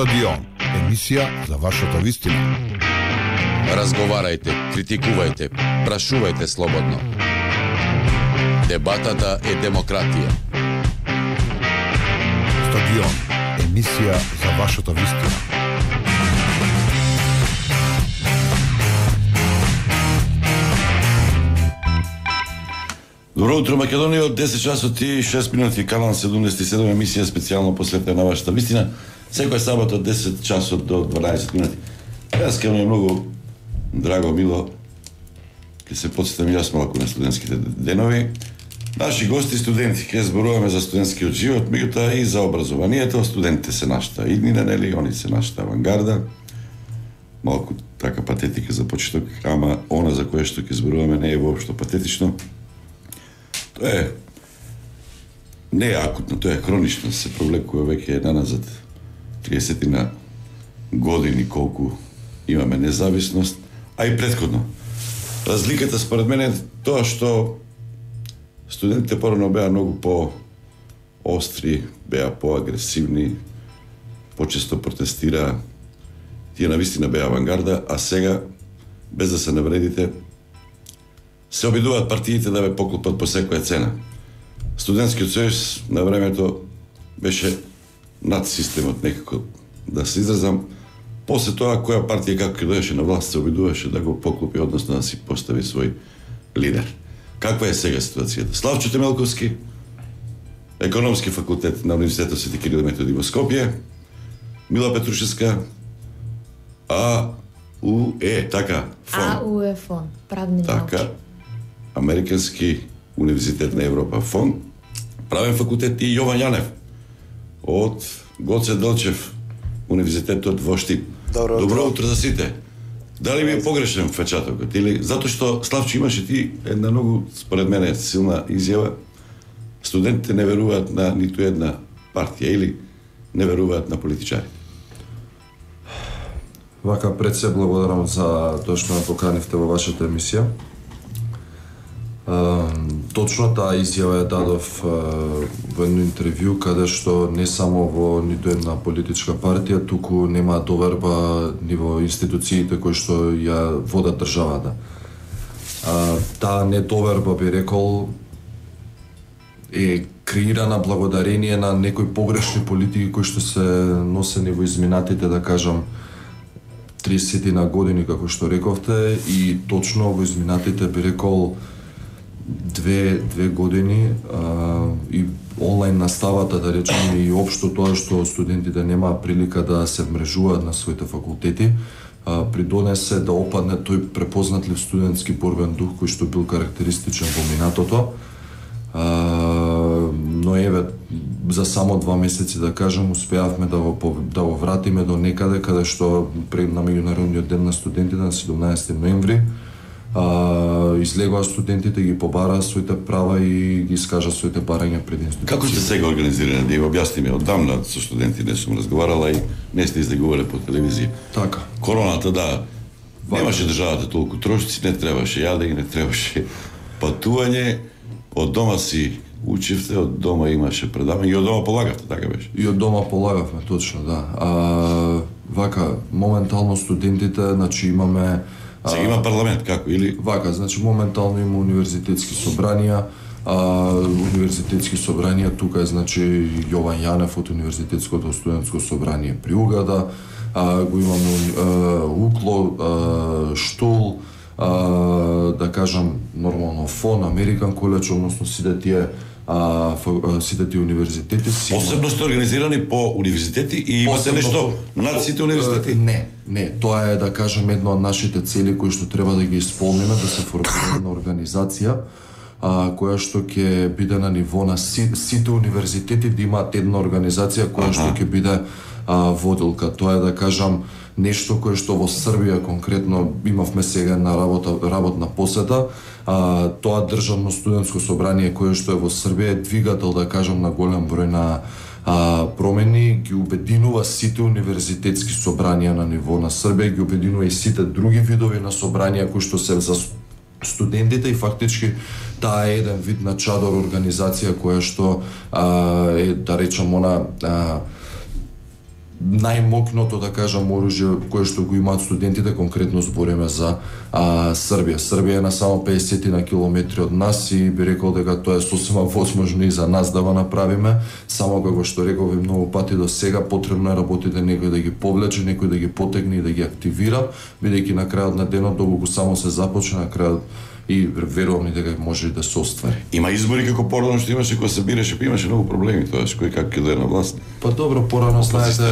Стадион, емисија за вашата вистина. Разговарајте, критикувајте, прашувајте слободно. Дебатата е демократија. Стадион, емисија за вашата вистина. Добро утро, Македонија, од 10 часот и 6 минути, канал 77, емисија специјално посветена на вашата вистина. Секој сабат од 10 часот до 12 минути. Јас ке ми е многу драго, мило, ке се подсетам и јас малку на студентските денови. Наши гости студенти, ке зборуваме за студентскиот живот, меѓутоа и за образованието. Студентите се нашата иднина, нели, они се нашата авангарда. Малку така патетика за почеток, ама она за кое што ке зборуваме не е воопшто патетично. Тоа не е акутно, тоа е хронично, се провлекува веќе наназад 30 години колку имаме независност, а и претходно. Разликата според мене е тоа што студентите порано беа многу по-остри, беа по-агресивни, почесто протестираа, тие навистина беа авангарда, а сега, без да се навредите, се обидуваат партиите да ве поклопат по секоја цена. Студентскиот сојуз на времето беше над системот, некако да се изразам. После тоа, која партија како дојдеше на власт, се обидуваше да го поклопи, односно да си постави свој лидер. Каква е сега ситуацијата? Славчо Темелковски, економски факултет на Универзитетот Свети Кирил и Методи во Скопје, Мила Петрушевска, АУЕ, така, фон. АУЕ фон, правни науки. Така, Американски универзитет на Европа фон, правен факултет и Јован Јанев од Гоце Делчев универзитетот во Штип. Добро утро за сите. Дали ми е погрешен впечатокот или затоа што Славчо имаше ти една многу според мене силна изјава, студентите не веруваат на ниту една партија или не веруваат на политичари. Вака, пред се благодарам за тоа што ме поканивте во вашата емисија. Точно таа изјава ја дадов во едно интервју каде што не само во ниту една политичка партија, туку нема доверба ни во институциите кои што ја водат државата. Таа недоверба, би рекол, е креирана благодарение на некои погрешни политики кои што се носени во изминатите, да кажам, 30 на години, како што рековте, и точно во изминатите, би рекол, две години и онлайн наставата, да речем, и општо тоа што студентите немаа прилика да се вмрежуваат на своите факултети, придонесе да опадне тој препознатлив студентски борбен дух кој што бил карактеристичен во минатото. Но еве, за само 2 месеци, да кажем, успеавме да го вратиме до некаде каде што на меѓународниот ден на студентите на 17 ноември излегоа студентите, ги побараа своите права и ги искажа своите барања пред институциите. Како сте сега организирани? Да ја објасниме, оддамна со студенти не сум разговарала и не сте излегувале по телевизија. Така. Короната, да, немаше државата толку трошци, не требаше јадење, не требаше патување, од дома си учевте, од дома имаше предавање и од дома полагавте, така беше? И од дома полагавме, точно, да. Вака, моментално студентите, значи имаме Сега има парламент, како, или? Вака, значи моментално има универзитетски собранија, тука е, значи, Јован Јанев од Универзитетското студентско собрание при Угада, го имаме УКЛО, ШТУЛ, да кажам, нормално ФОН, Американ коледж, односно сите тие универзитети. Посебно сте организирани по универзитети и имате нешто над сите универзитети? Не, тоа е, да кажем, една од нашите цели кои што треба да ги исполниме, да се формира една организација која што ќе биде на ниво на сите универзитети, да имаат една организација која што ќе биде водилка. Тоа е, да кажам, нешто кое што во Србија конкретно имавме сега на работна посета. Тоа државно студентско собрание кое што е во Србија е двигател, да кажам, на голем број на промени, ги обединува сите универзитетски собранија на ниво на Србија, ги обединува и сите други видови на собранија кои што се за студентите и фактички таа е еден вид на чадор организација која што е, да речам, она најмокното, да кажам, оружје кое што го имаат студентите, конкретно збориме за Србија. Србија е на само 50 на километри од нас и би рекол дека тоа е сосема возможно и за нас да го направиме, само како што рекове многу пати до сега, потребно е работите некој да ги повлече, некој да ги потегне и да ги активира, бидејќи на крајот на денот доколку само се започне, на крајот и верувам и дека може да се оствари. Има избори како порано што имаше кога се бираше, па имаше многу проблеми тоаш кој како ќе дое на власт. Па добро, порано знаете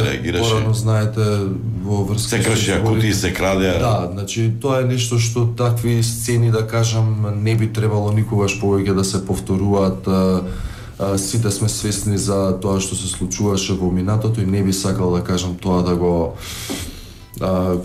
во врска се кршеа кутии, се крадеа. Да, значи тоа е нешто што такви сцени, да кажам, не би требало никогаш повеќе да се повторуваат. Сите сме свесни за тоа што се случуваше во минатото и не би сакал да кажам тоа да го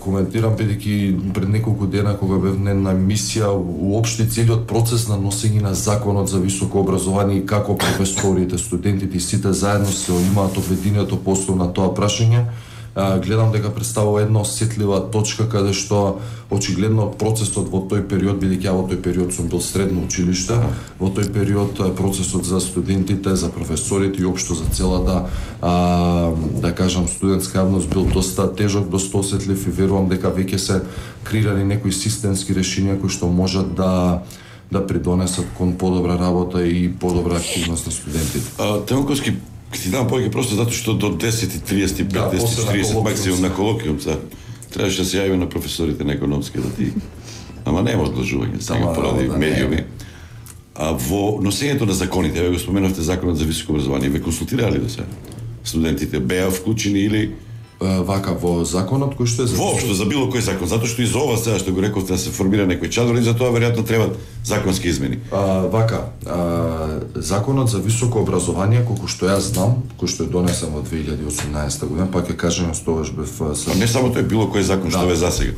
коментирам, бидејќи пред неколку дена кога бев на една емисија, уопшти целиот процес на носење на законот за високо образование и како професорите, студентите и сите заедно се имаат обединето по основ на тоа прашање, гледам дека представува една осетлива точка каде што очигледно процесот во тој период, бидејќи ја во тој период сум бил средно училиште, во тој период процесот за студентите, за професорите и општо за целата да кажам студентска јавност бил доста тежок, доста осетлив и верувам дека веќе се креирани некои системски решенија кои што можат да придонесат кон подобра работа и подобра активност на студентите. Темоковски, ти дам повеќе просто затоа што до 10:35, 10:40 максимум на колоквиум требаше да се јави на професорите на економски да ти. Ама нема одложување, сега поради медиуми. Во носењето на законите, ве го споменавте законот за високо образование, ве консултирале до сега? Студентите беа вклучени или вака во законот кој што е за воопшто за било кој закон, затоа што и за ова сега што го рековте да се формира некој чадор и за тоа веројатно требаат законски измени. Законот за високо образование, колку што јас знам, кој што е донесен во 2018 година, пак ќе кажам што тогаш бев не само тој било кој закон што е засега.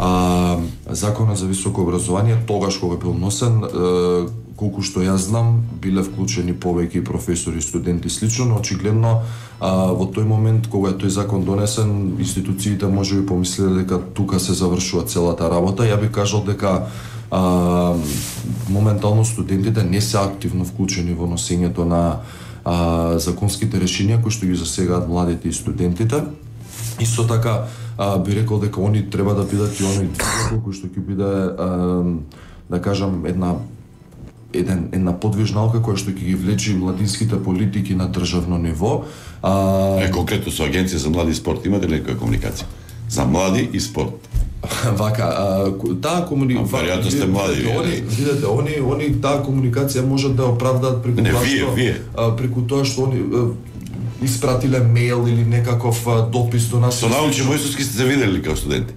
Законот за високо образование тогаш кога бил носен, колку што јас знам, биле вклучени повеќе професори, студенти слично, но очигледно во тој момент кога е тој закон донесен, институциите можеби помислеле дека тука се завршува целата работа. Ја би кажал дека моментално студентите не се активно вклучени во носењето на законските решенија кои што ги засегаат младите и студентите. Исто така би рекол дека они треба да бидат и оној кој што ќе биде да кажам една подвижналка која што ќе ги влечи младинските политики на државно ниво. Конкретно со Агенција за млади и спорт имате ли некоја комуникација? За млади и спорт. Таа комуникација. Веројатно сте млади. Видете, они таа комуникација можат да оправдаат преку тоа што они испратиле мејл или некаков допис до нас. Со научни војсовски сте се видели како студенти?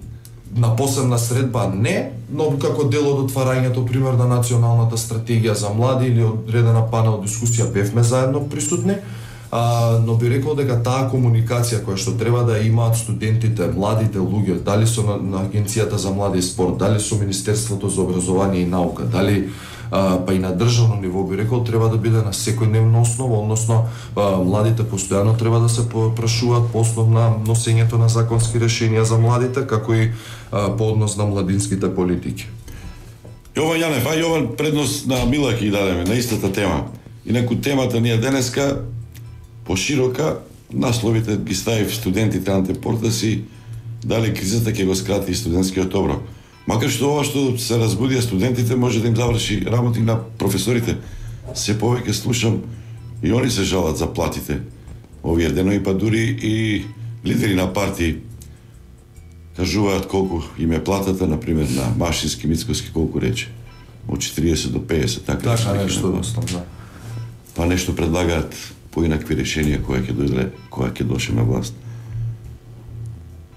На посебна средба не, но како дел од отварањето пример на националната стратегија за млади или одредена панел дискусија бевме заедно присутни, но би рекол дека таа комуникација која што треба да имаат студентите, младите луѓе, дали со на Агенцијата за млади и спорт, дали со Министерството за образование и наука, дали па и на државно ниво би рекол треба да биде на секојдневна основа, односно младите постојано треба да се прашуваат по основ на носењето на законски решенија за младите, како и по однос на младинските политики. Јован Јанев, Јован предност на Мила ќе дадеме на истата тема. Инаку темата ни е денеска поширока, насловите ги ставив студентите антепорта си, дали кризата ќе го скрати студентскиот оброк. Макар што ова што се разбудија студентите може да им заврши работи на професорите. Се повеќе слушам и они се жалат за платите. Овие денови па дури и лидери на партии кажуваат колку им е платата, например на Машински, Мицкоски, колку рече. Од 40 до 50, така нешто, па нешто предлагаат поинакви решенија која ќе доше на власт.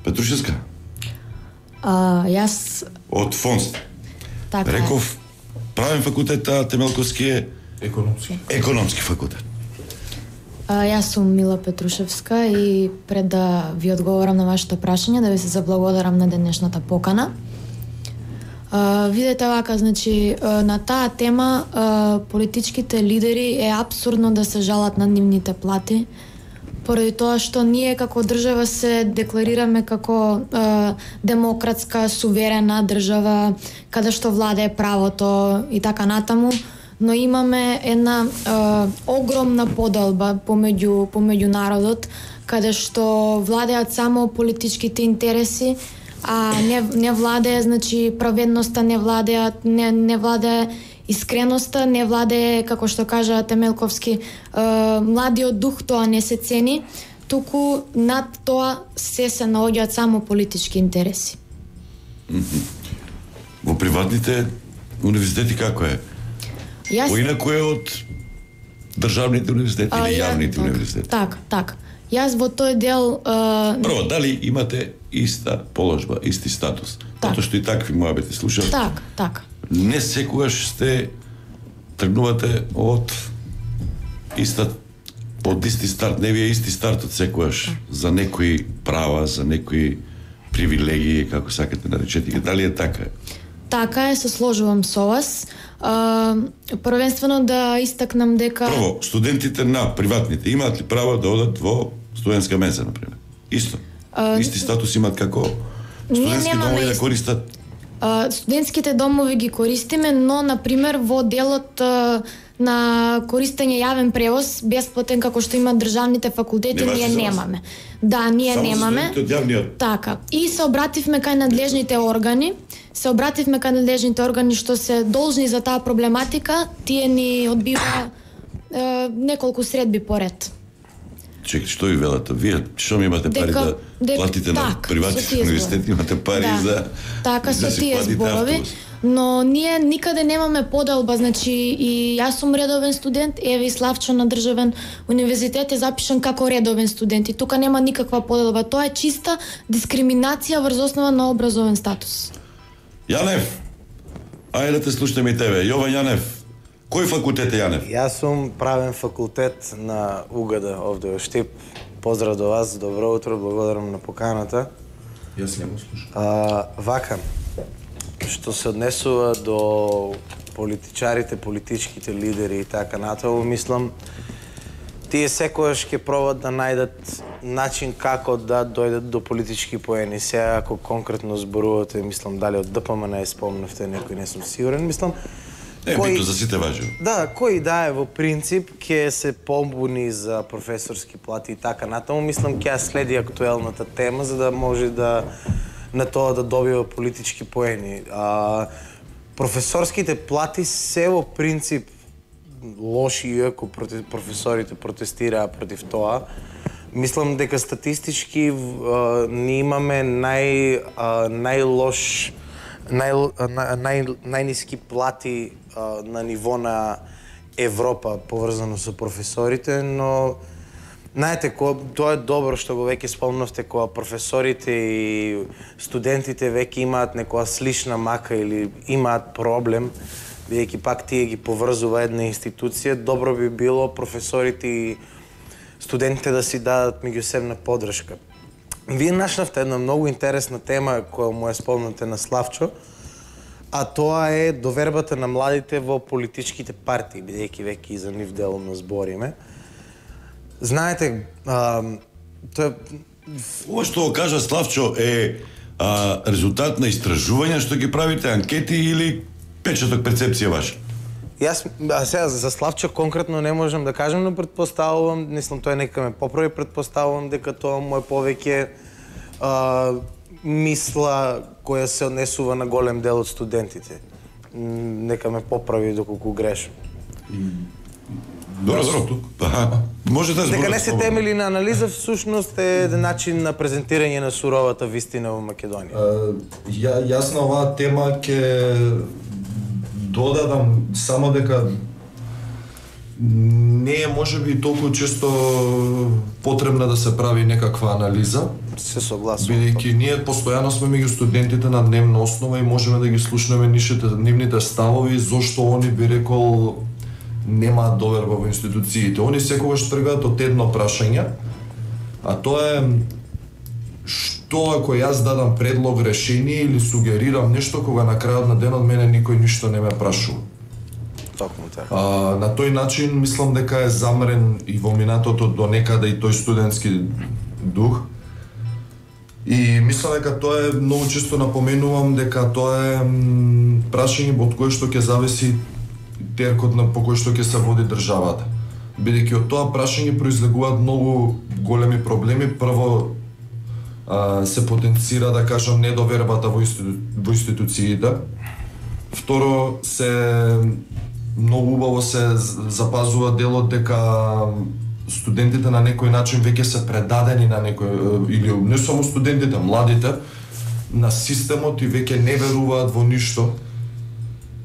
Петрушевска? Јас од ФОНС. Така реков правен факултет, Темелковски е економски факултет. Јас сум Мила Петрушевска и пред да ви одговорам на вашето прашање, да ви се заблагодарам на денешната покана. Видете вака, значи, на таа тема политичките лидери е апсурдно да се жалат на нивните плати, поради тоа што ние како држава се декларираме како демократска, суверена држава, каде што владее правото и така натаму, но имаме една огромна поделба помеѓу народот, каде што владеат само политичките интереси, а не владее, значи праведноста, не владее искреноста, не владее, како што кажа Темелковски, младиот дух, тоа не се цени, туку над тоа се наоѓаат само политички интереси. Во приватните универзитети како е? Поинаку е од државните универзитети или јавните универзитети? Так. Јас во тој дел... Прво, дали имате иста положба, исти статус? Затоа што и такви моабети слушам. Так. Не секогаш тргнувате од исти старт, не ви е исти стартот секогаш за некои права, за некои привилегии, како сакате наречете. Дали е така? Така е, се сложувам со вас. Првенствено да истакнам дека... Прво, студентите на приватните имаат ли право да одат во студентска менза, например? Исто. Исти статус имаат како студентски домови да користат? Студентските домови ги користиме, но, например, во делот на користење јавен превоз, бесплатен како што имаат државните факултети, ние немаме. Да, ние немаме. Така. И се обративме кај надлежните органи. Што се должни за таа проблематика, тие ни одбива неколку средби поред. Чекай, што ви велат? Вие што ми имате пари да платите на приватните универзитети, имате пари за така со тие зборови, но ние никаде немаме поделба, значи и јас сум редовен студент, еве и Славчо на државен универзитет е запишан како редовен студент и тука нема никаква поделба, тоа е чиста дискриминација врз основа на образовен статус. Јанев, ајде да те слушаме и тебе. Јован Јанев, кој факултет е Јанев? Јас сум правен факултет на УГД овде во Штип. Поздрав до вас, добро утро, благодарам на поканата. Јас не го слушам. Вака, што се однесува до политичарите, политичките лидери и така натаму, мислам, тие секогаш ќе пробат да најдат начин како да дојдат до политички поени. Сега, ако конкретно зборувате, мислам, дали од ДПМН не спомнавте некој, не сум сигурен, мислам, бито за сите важи. Да, кој да е во принцип ќе се побуни за професорски плати и така натаму, мислам ќе следи актуелната тема за да може да на тоа да добива политички поени. Професорските плати се во принцип лоши, иако професорите протестираа против тоа. Мислам дека статистички ни имаме најниски плати на ниво на Европа поврзано со професорите, но знаете, тоа е добро што го веќе спомнавте, кога професорите и студентите веќе имаат некоја слична мака или имаат проблем, бидејќи пак тие ги поврзува една институција, добро би било професорите и студентите да си дадат меѓусебна поддршка. Вие нашнавте една многу интересна тема која му е спомнате на Славчо, а тоа е довербата на младите во политичките партии, бидејќи веќе и за нив делумно збориме. Знаете, ова што го кажа Славчо е резултат на истражувања што ги правите, анкети или печаток перцепција ваша? Јас сега за Славчо конкретно не можам да кажам, но претпоставувам, мислам тој нека ме поправи, претпоставувам дека тоа му е повеќе мисла која се однесува на голем дел од студентите. Нека ме поправи доколку грешам. Добро, може да зборувате. Дека не се темели на анализа, всушност е начин на презентирање на суровата вистина во Македонија. Јас на оваа тема ќе додадам само дека не е можеби толку често потребна да се прави некаква анализа. Се согласувам. Бидејќи ние постојано сме меѓу студентите на дневна основа и можеме да ги слушнеме нивните ставови, зошто они би рекол немаат доверба во институциите. Они секогаш тргаат од едно прашање, а тоа е што ако јас дадам предлог, решение или сугерирам нешто кога на крајот на денот мене никој ништо не ме прашува. Токму така. На тој начин мислам дека е замрен и во минатото до некаде и тој студентски дух. И мислам дека тоа е, многу често напоменувам дека тоа е прашање од кое што ќе зависи теркот по кој што ќе се води државата. бидејќи од тоа прашање произлегуваат многу големи проблеми. Прво, се потенцира, да кажам, недовербата во институциите. Второ, се многу убаво се запазува делот дека студентите на некој начин веќе се предадени на некој, или не само студентите, младите, на системот и веќе не веруваат во ништо.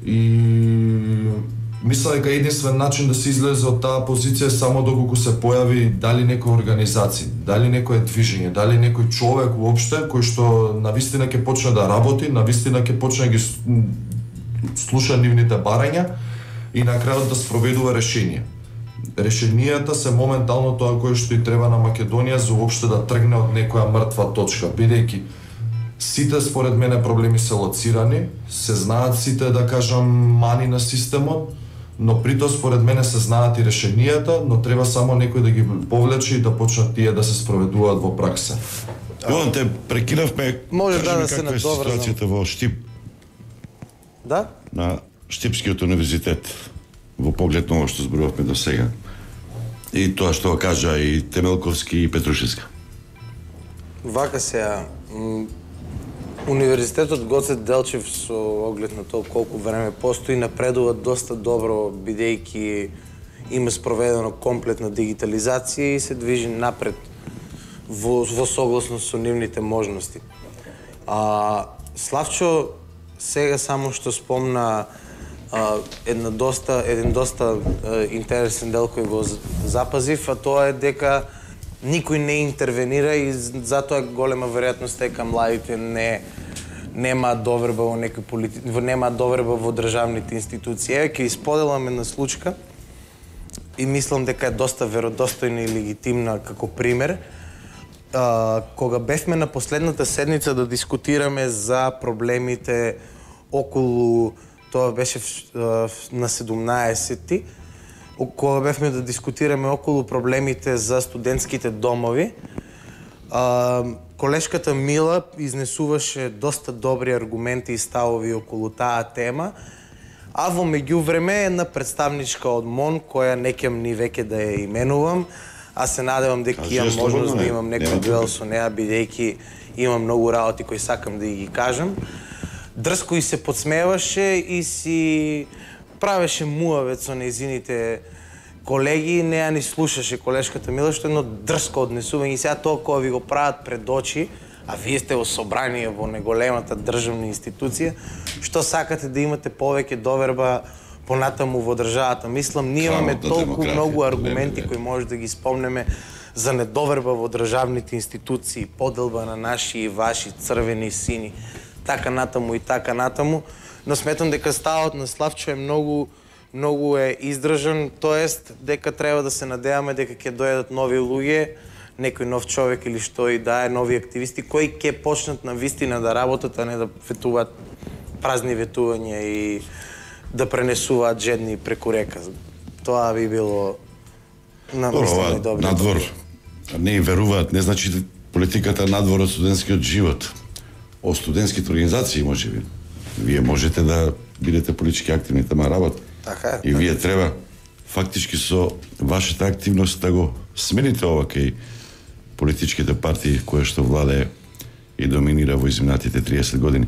И мислам дека единствен начин да се излезе од таа позиција е само доколку се појави дали некоја организација, дали некое движење, дали некој човек уопште кој што навистина ќе почне да работи, навистина ќе почне да ги слуша нивните барања и на крајот да спроведува решенија. Решенијата се моментално тоа кое што и треба на Македонија за уопште да тргне од некоја мртва точка, бидејќи сите според мене проблеми се лоцирани, се знаат сите, да кажам, мани на системот, но притоа според мене се знаат и решенијата, но треба само некој да ги повлече и да почнат тие да се спроведуваат во пракса. Јован, те прекинавме. Може да се каква е ситуацијата во Штип? Да? На Штипскиот универзитет, во поглед на ова што зборувавме до сега. И тоа што го кажа и Темелковски и Петрушевска. Вака сега, Универзитетот Гоце Делчев со оглед на тоа колку време постои напредува доста добро, бидејќи има спроведено комплетна дигитализација и се движи напред во согласно со нивните можности. Славчо сега само што спомна еден доста интересен дел кој го запазив, а тоа е дека никој не интервенира и затоа голема веројатност дека младите немаат доверба во некој немаат доверба во државните институции. Еве ќе исподеламе на случка и мислам дека е доста веродостојна и легитимна како пример. Кога бевме на последната седница да дискутираме за проблемите околу, тоа беше на 17-ти, кога бевме да дискутираме околу проблемите за студентските домови, колешката Мила изнесуваше доста добри аргументи и ставови околу таа тема, а во меѓувреме една представничка од МОН, која не ќе ни веќе да ја именувам, аз се надевам дека имам можност да имам некој дуел со неа, бидејќи имам многу работи кои сакам да ги кажам, дрско и се подсмеваше и си правеше муавет со нејзините колеги, не ја ни слушаше колешката Мила, што едно дрско однесување. И сега тоа кога ви го прават пред очи, а вие сте во собрание во неголемата државна институција, што сакате да имате повеќе доверба понатаму во државата. Мислам, ние имаме толку многу аргументи кои може да ги спомнеме за недоверба во државните институции, поделба на наши и ваши, црвени, сини, така натаму и така натаму, но сметам дека ставот на Славчо е многу е издржан, тоест дека треба да се надеваме дека ќе дојдат нови луѓе, некој нов човек или што и да е, нови активисти кои ќе почнат на вистина да работат, а не да ветуваат празни ветувања и да пренесуваат жедни преку река. Тоа би било намислено и добро. Надвор не им веруваат, не значи политиката надвор од студентскиот живот. Од студентските организации можеби. Вие можете да бидете политички активни, тама работа. Така е. И вие треба фактички со вашата активност да го смените ова кај политичките партии кои што владее и доминира во изминатите 30 години.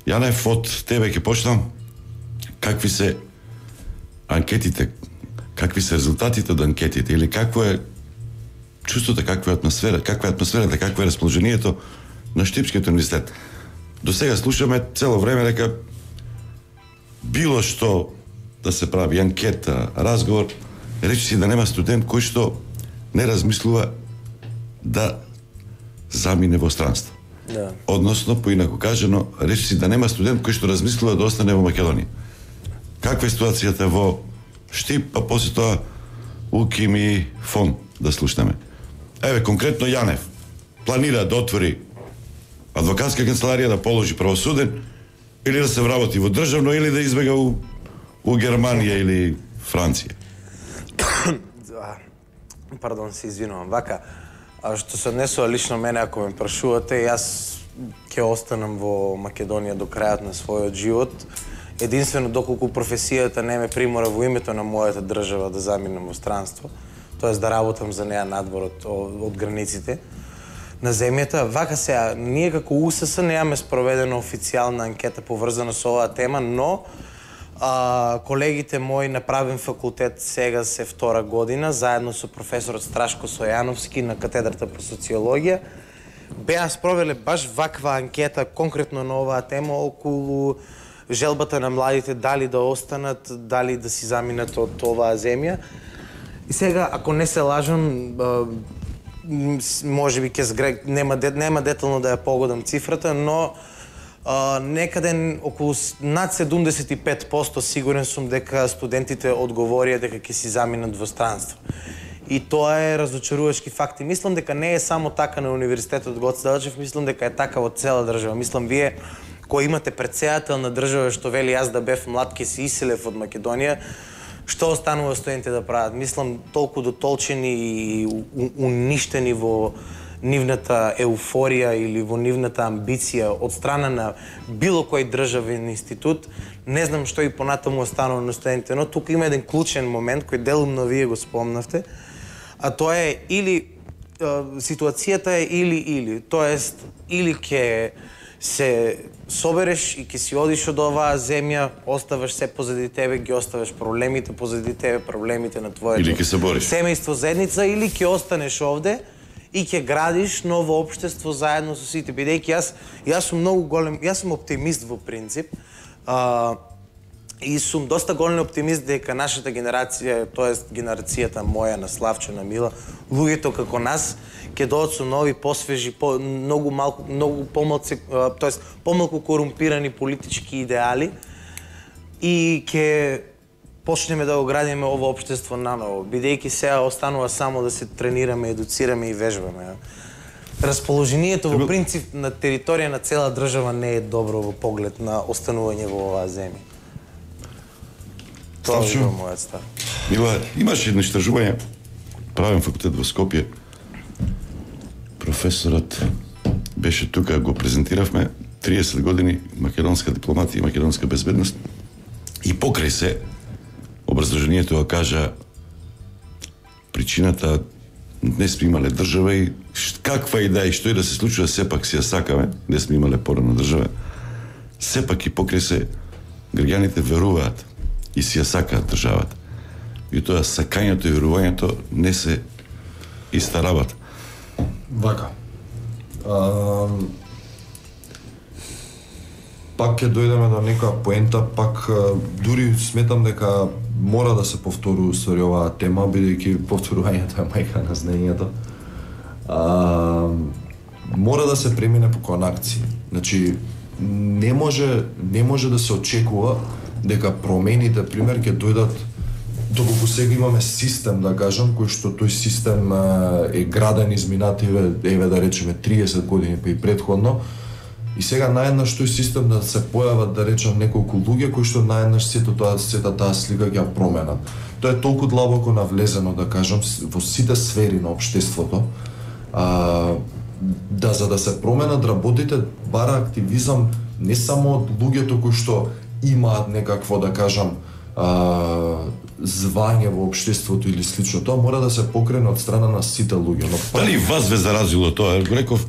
Јанев, од тебе ќе почнам. Какви се анкетите, какви се резултатите од анкетите или какво е чувството, каква е атмосферата, какво е расположението на Штипскиот универзитет? До сега слушаме цело време дека било што да се прави анкета, разговор, речи си да нема студент кој што не размислува да замине во странство. Да. Односно, поинаку кажано, речи си да нема студент кој што размислува да остане во Македонија. Каква е ситуацијата во Штип, а после тоа УКИМ и ФОН да слушнеме. Еве, конкретно Јанев планира да отвори адвокатска канцеларија, да положи правосуден, или да се вработи во државно, или да избега у Германија или Франција. Пардон, се извинувам. Вака, што се однесува лично мене, ако ме прашувате, јас ќе останам во Македонија до крајот на својот живот единствено доколку професијата не ме примора во името на мојата држава да заминам во странство, тоест да работам за неа надвор од границите на земјата. Вака сега, ние како УСС немаме спроведена официјална анкета поврзана со оваа тема, но колегите мои на правен факултет сега се втора година, заедно со професорот Страшко Сојановски на катедрата по социологија, беа спровеле баш ваква анкета конкретно на оваа тема околу желбата на младите дали да останат, дали да си заминат од оваа земја. И сега, ако не се лажам, може би нема детално да ја погодам цифрата, но некаде околу над 75% сигурен сум дека студентите одговорија дека ќе си заминат во странство. И тоа е разочарувачки факт. И мислам дека не е само така на Универзитетот Гоце Делчев, мислам дека е така во цела држава. Мислам, вие кои имате претседател на држава што вели јас да бев млад ке се иселев од Македонија, што останува студентите да прават? Мислам, толку дотолчени и уништени во нивната еуфорија или во нивната амбиција од страна на било кој државен институт, не знам што и понатаму останува на студентите, но тука има еден клучен момент кој делумно вие го спомнавте, а тоа е или ситуацијата е или, тоест или ќе се собереш и ќе си одиш од оваа земја, оставаш се позади тебе, ги оставаш проблемите позади тебе, проблемите на твоето семејство, заедница, или ќе останеш овде и ќе градиш ново општество заедно со сите, бидејќи јас сум многу голем, јас сум оптимист во принцип, и сум доста голем оптимист дека нашата генерација, тоест генерацијата моја на Славчо, на Мила, луѓето како нас ќе дојдат со нови, посвежи, многу помалку, тоест помалку корумпирани политички идеали и ќе почнеме да го градиме ова општество наново, бидејќи сега останува само да се тренираме, едуцираме и вежбаме. Расположението во принцип на територија на цела држава не е добро во поглед на останување во оваа земја. Тоа е мојот став. Мила, имаше едно истражување, правен факултет во Скопје. Професорот беше тука, го презентиравме, 30 години македонска дипломатија и македонска безбедност. И покрај се, образложението го кажа причината не сме имале држава и каква и да и што и да се случува, сепак си ја сакаме, не сме имале порано држава. Сепак и покрај се, граѓаните веруваат и си ја сакаат државата. И тоа сакањето и верувањето не се иста работа. Вака. Пак ќе дојдеме до некоја поента, пак дури сметам дека мора да се повтори устари оваа тема, бидејќи повторувањето е мајка на знаењето. Мора да се премине по конакции. Значи, не може да се очекува дека промените, пример, ќе дојдат доколку сега имаме систем, да кажам, кој што тој систем е граден изминативе, еве да речеме 30 години па и претходно, и сега наеднаш тој систем да се појават, да речем, неколку луѓе кои што наеднаш сета таа слика ќе ја променат. Тоа е толку длабоко навлезено, да кажам, во сите сфери на општеството, за да се променат работите, бара активизам не само од луѓето кои што имаат некакво, да кажам, звање во општеството или слично, тоа мора да се покрене од страна на сите луѓе. Дали вас ве заразило тоа? Го реков,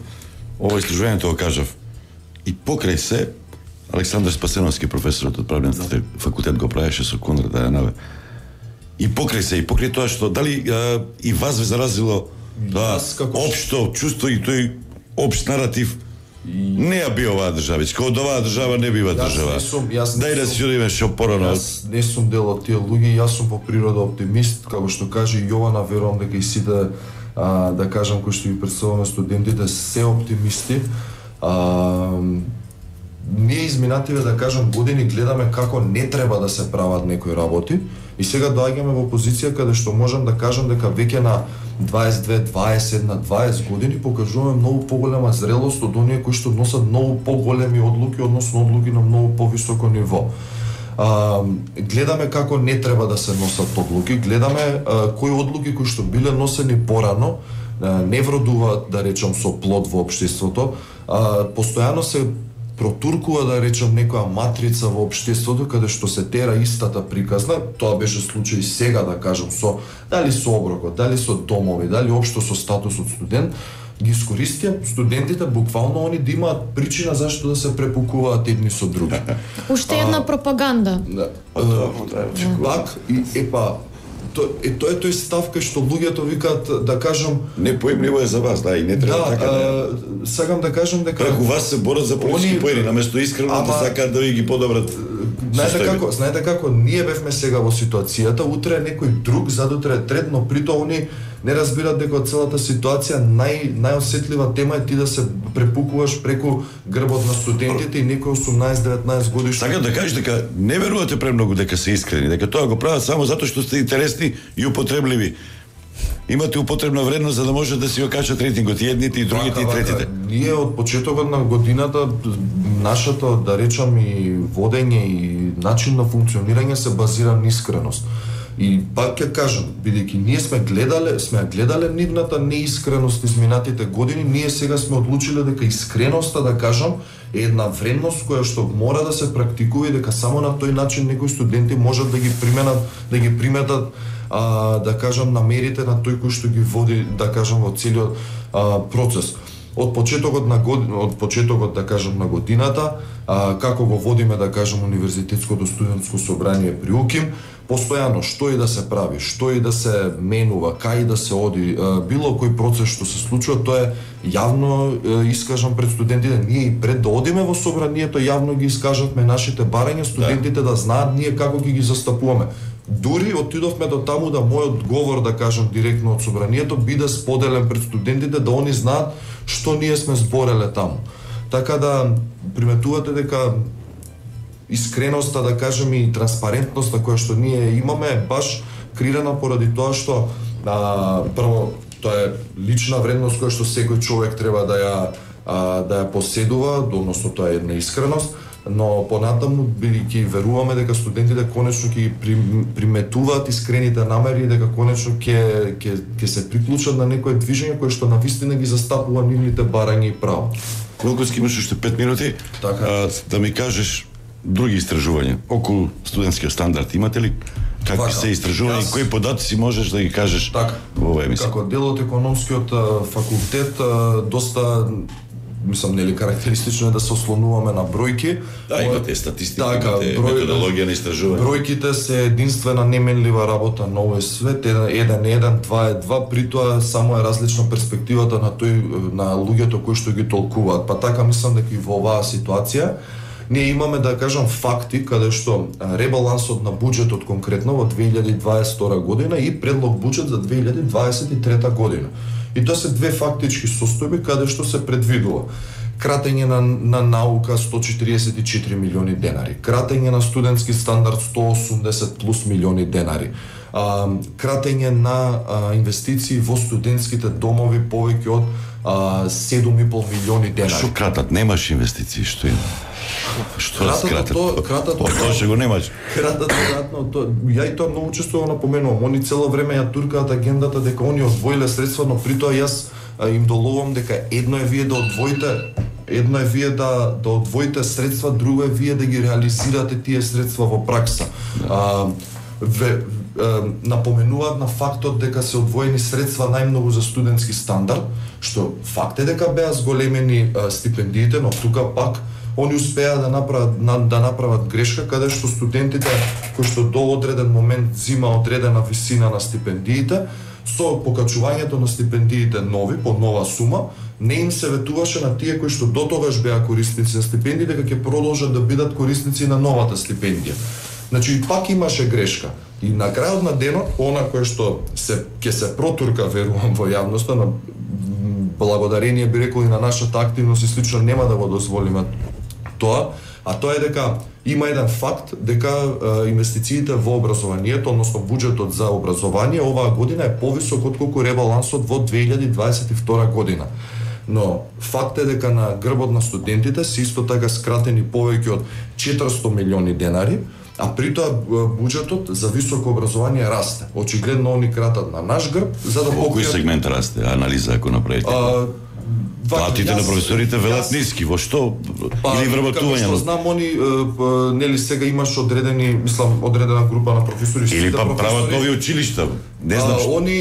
ова истражувањето го кажав. И покрај се, Александар Спасеновски, професорот од правниот факултет, го правеше со Конрад Ајанаве. И покрај се, и покрај тоа што, дали и вас ве заразило тоа општо чувство и тој општ наратив, не ја би оваа држава, од оваа држава не бива држава. Дај да си одиме што порано. Јас не сум дел од тие луѓе, јас сум по природа оптимист, како што каже Јована, верувам дека и сите, да кажам, кои што ги представуваме студентите, се оптимисти. Ние изминативе, да кажам, години гледаме како не треба да се прават некои работи и сега доаѓаме во позиција каде што можам да кажам дека веќе на 22, 21, 20 години покажуваме многу поголема зрелост од оние кои што носат многу поголеми одлуки, односно одлуки на многу повисоко ниво. Гледаме како не треба да се носат одлуки, гледаме кои одлуки кои што биле носени порано не вродуваат, да речам, со плод во општеството. Постојано се протуркува, да речам, некоја матрица во општеството каде што се тера истата приказна. Тоа беше случај сега, да кажам, со дали со оброкот, дали со домови, дали општо со статусот студент, ги искористија студентите буквално они да имаат причина зашто да се препукуваат едни со други. Уште една пропаганда. Пак и тоа е тој став кај што луѓето викаат, да кажам, Непоимливо е за вас, да, и не треба така. Сакам да кажам дека Како вас се борат за политички поени, наместо искрено да сакаат да ги подобрат. Знаете како, ние бевме сега во ситуацијата, утре е некој друг, задутре е трет, но при тоа они не разбират дека целата ситуација најосетлива тема е ти да се препукуваш преку грбот на студентите и некој 18-19 годишни. Сакам да кажеш дека не верувате премногу дека се искрени, дека тоа го прават само затоа што сте интересни и употребливи. Имате употребна вредност за да може да си го качат рейтингот и едните и другите и третите. Ние од почетокот на годината нашето, да речам, и водење и начин на функционирање се базира на искреност. И пак ќе кажам, бидејќи ние сме гледале нивната неискреност изминатите години, ние сега сме одлучиле дека искреноста, да кажам, е една вредност која што мора да се практикува и дека само на тој начин некои студенти можат да ги приметат, да кажам, намерите на тој кој што ги води, да кажам, во целиот процес. Од почетокот, да кажам, на годината, како го водиме, да кажам, универзитетското студентско собрание при УКИМ, постојано што и да се прави, што и да се менува, кај да се оди, било кој процес што се случува, тоа е јавно искажан пред студентите. Ние и пред да одиме во собранието јавно ги искажавме нашите барања, студентите да знаат ние како ги застапуваме. Дури отидовме до таму да мојот говор, да кажам, директно од собранието биде споделен пред студентите, да они знаат што ние сме збореле таму. Така да приметувате дека искреноста, да кажем, и транспарентноста која што ние имаме е баш креирана поради тоа што прво тоа е лична вредност која што секој човек треба да ја поседува, односно тоа е една искреност, но понатаму бидејќи веруваме дека студентите конечно ќе ги приметуваат искрените намери и дека конечно ќе се приклучат на некое движење кое што навистина ги застапува нивните барања и права. Колкоски имаш уште 5 минути, да ми кажеш други истражувања околу студентскиот стандард имате ли? Какви се истражувања и кои податоци можеш да ги кажеш во оваа емисија? Како дел од економскиот факултет, доста мислам, нели, карактеристично е да се ослонуваме на бројки. Да, имате статистика, имате методологија на истражување. Бројките се единствена неменлива работа на овој свет, 1:1, 2:2, при тоа само е различна перспективата на луѓето кои што ги толкуваат. Па така мислам дека и во оваа ситуација ние имаме, да кажам, факти каде што ребалансот на буџетот конкретно во 2022 година и предлог буџет за 2023 година. И тоа се две фактички состојби каде што се предвидува кратење на наука 144 милиони денари, кратење на студентски стандард 180 плюс милиони денари, кратење на инвестиции во студентските домови повеќе од 7,5 милиони денари. Што кратат? Немаш инвестиции, што има? Што кратат? Тоа што го немаш. Кратат, ја и тоа многу често го напоменувам. Они цело време ја туркаат агендата дека они одвоиле средства, но при тоа јас им доловам дека едно е вие да одвоите средства, друго е вие да ги реализирате тие средства во пракса. Напоменуваат на фактот дека се одвоени средства најмногу за студентски стандард, што факт е дека беа зголемени стипендиите, но тука пак они успеа да направат грешка каде што студентите кои што до одреден момент зима одредена висина на стипендиите, со покачувањето на стипендиите нови по нова сума, не им се ветуваше на тие кои што дотогаш беа корисници на стипендии дека ќе продолжат да бидат корисници на новата стипендија. Значи и пак имаше грешка. И на крајот на денот, она кое што ќе се протурка, верувам, во јавноста, на благодарение, би рекол, и на нашата активност и слично, нема да го дозволиме тоа, а тоа е дека има еден факт дека инвестициите во образованието, односно буџетот за образование оваа година е повисок отколку ребалансот во 2022 година. Но факт е дека на грбот на студентите се исто така скратени повеќе од 400 милиони денари, а при тоа буџетот за високо образование расте. Очигледно они кратат на наш грб за да покријат. Кој сегмент расте? Анализа ако направите? Платите на професорите велат ниски, во што или вработување? Како што знам, они нели сега имаш одредени, мислам, одредена група на професори или па прават нови училишта. Не знам што. Они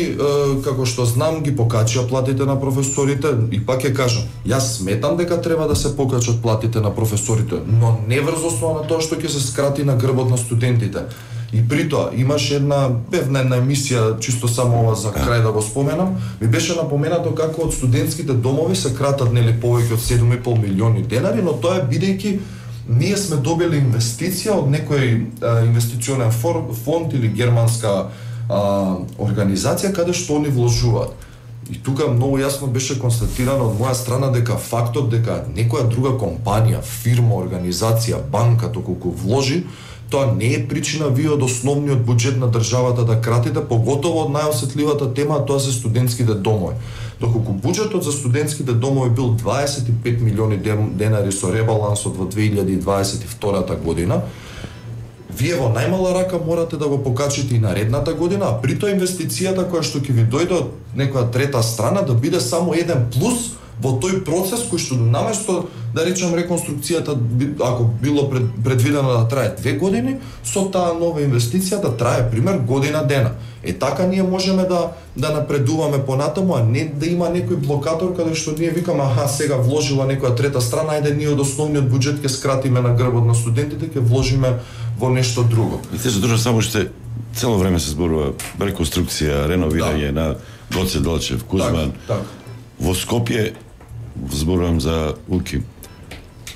како што знам ги покачија платите на професорите и пак ќе кажам, јас сметам дека треба да се покачат платите на професорите, но не врз основа на тоа што ќе се скрати на грбот на студентите. И при тоа имаше една емисија, чисто само ова за крај да го споменам, ми беше напоменато како од студентските домови се кратат нели повеќе од 7,5 милиони денари, но тоа е бидејќи ние сме добили инвестиција од некој инвестиционен фонд или германска организација каде што они вложуваат. И тука многу јасно беше констатирано од моја страна дека фактот дека некоја друга компанија, фирма, организација, банка доколку вложи, тоа не е причина вие од основниот буџет на државата да кратите, поготово од најосетливата тема, тоа се студентските домови. Доколку буџетот за студентските домови бил 25 милиони денари со ребалансот во 2022 година, вие во најмала рака морате да го покачите и наредната година, а при тоа инвестицијата која што ќе ви дојде од некоја трета страна да биде само еден плюс во тој процес кој што наместо да речем реконструкцијата ако било предвидено да трае 2 години, со таа нова инвестиција да трае пример година дена. Така ние можеме да напредуваме понатаму, а не да има некој блокатор каде што ние викаме сега вложила некоја трета страна, ајде ние од основниот буџет ќе скратиме на грбот на студентите, ќе вложиме во нешто друго. И се задржа само што цело време се зборува реконструкција, реновирање на Гоце Делчев, Кузман. Так. Во Скопје зборувам за УКИ.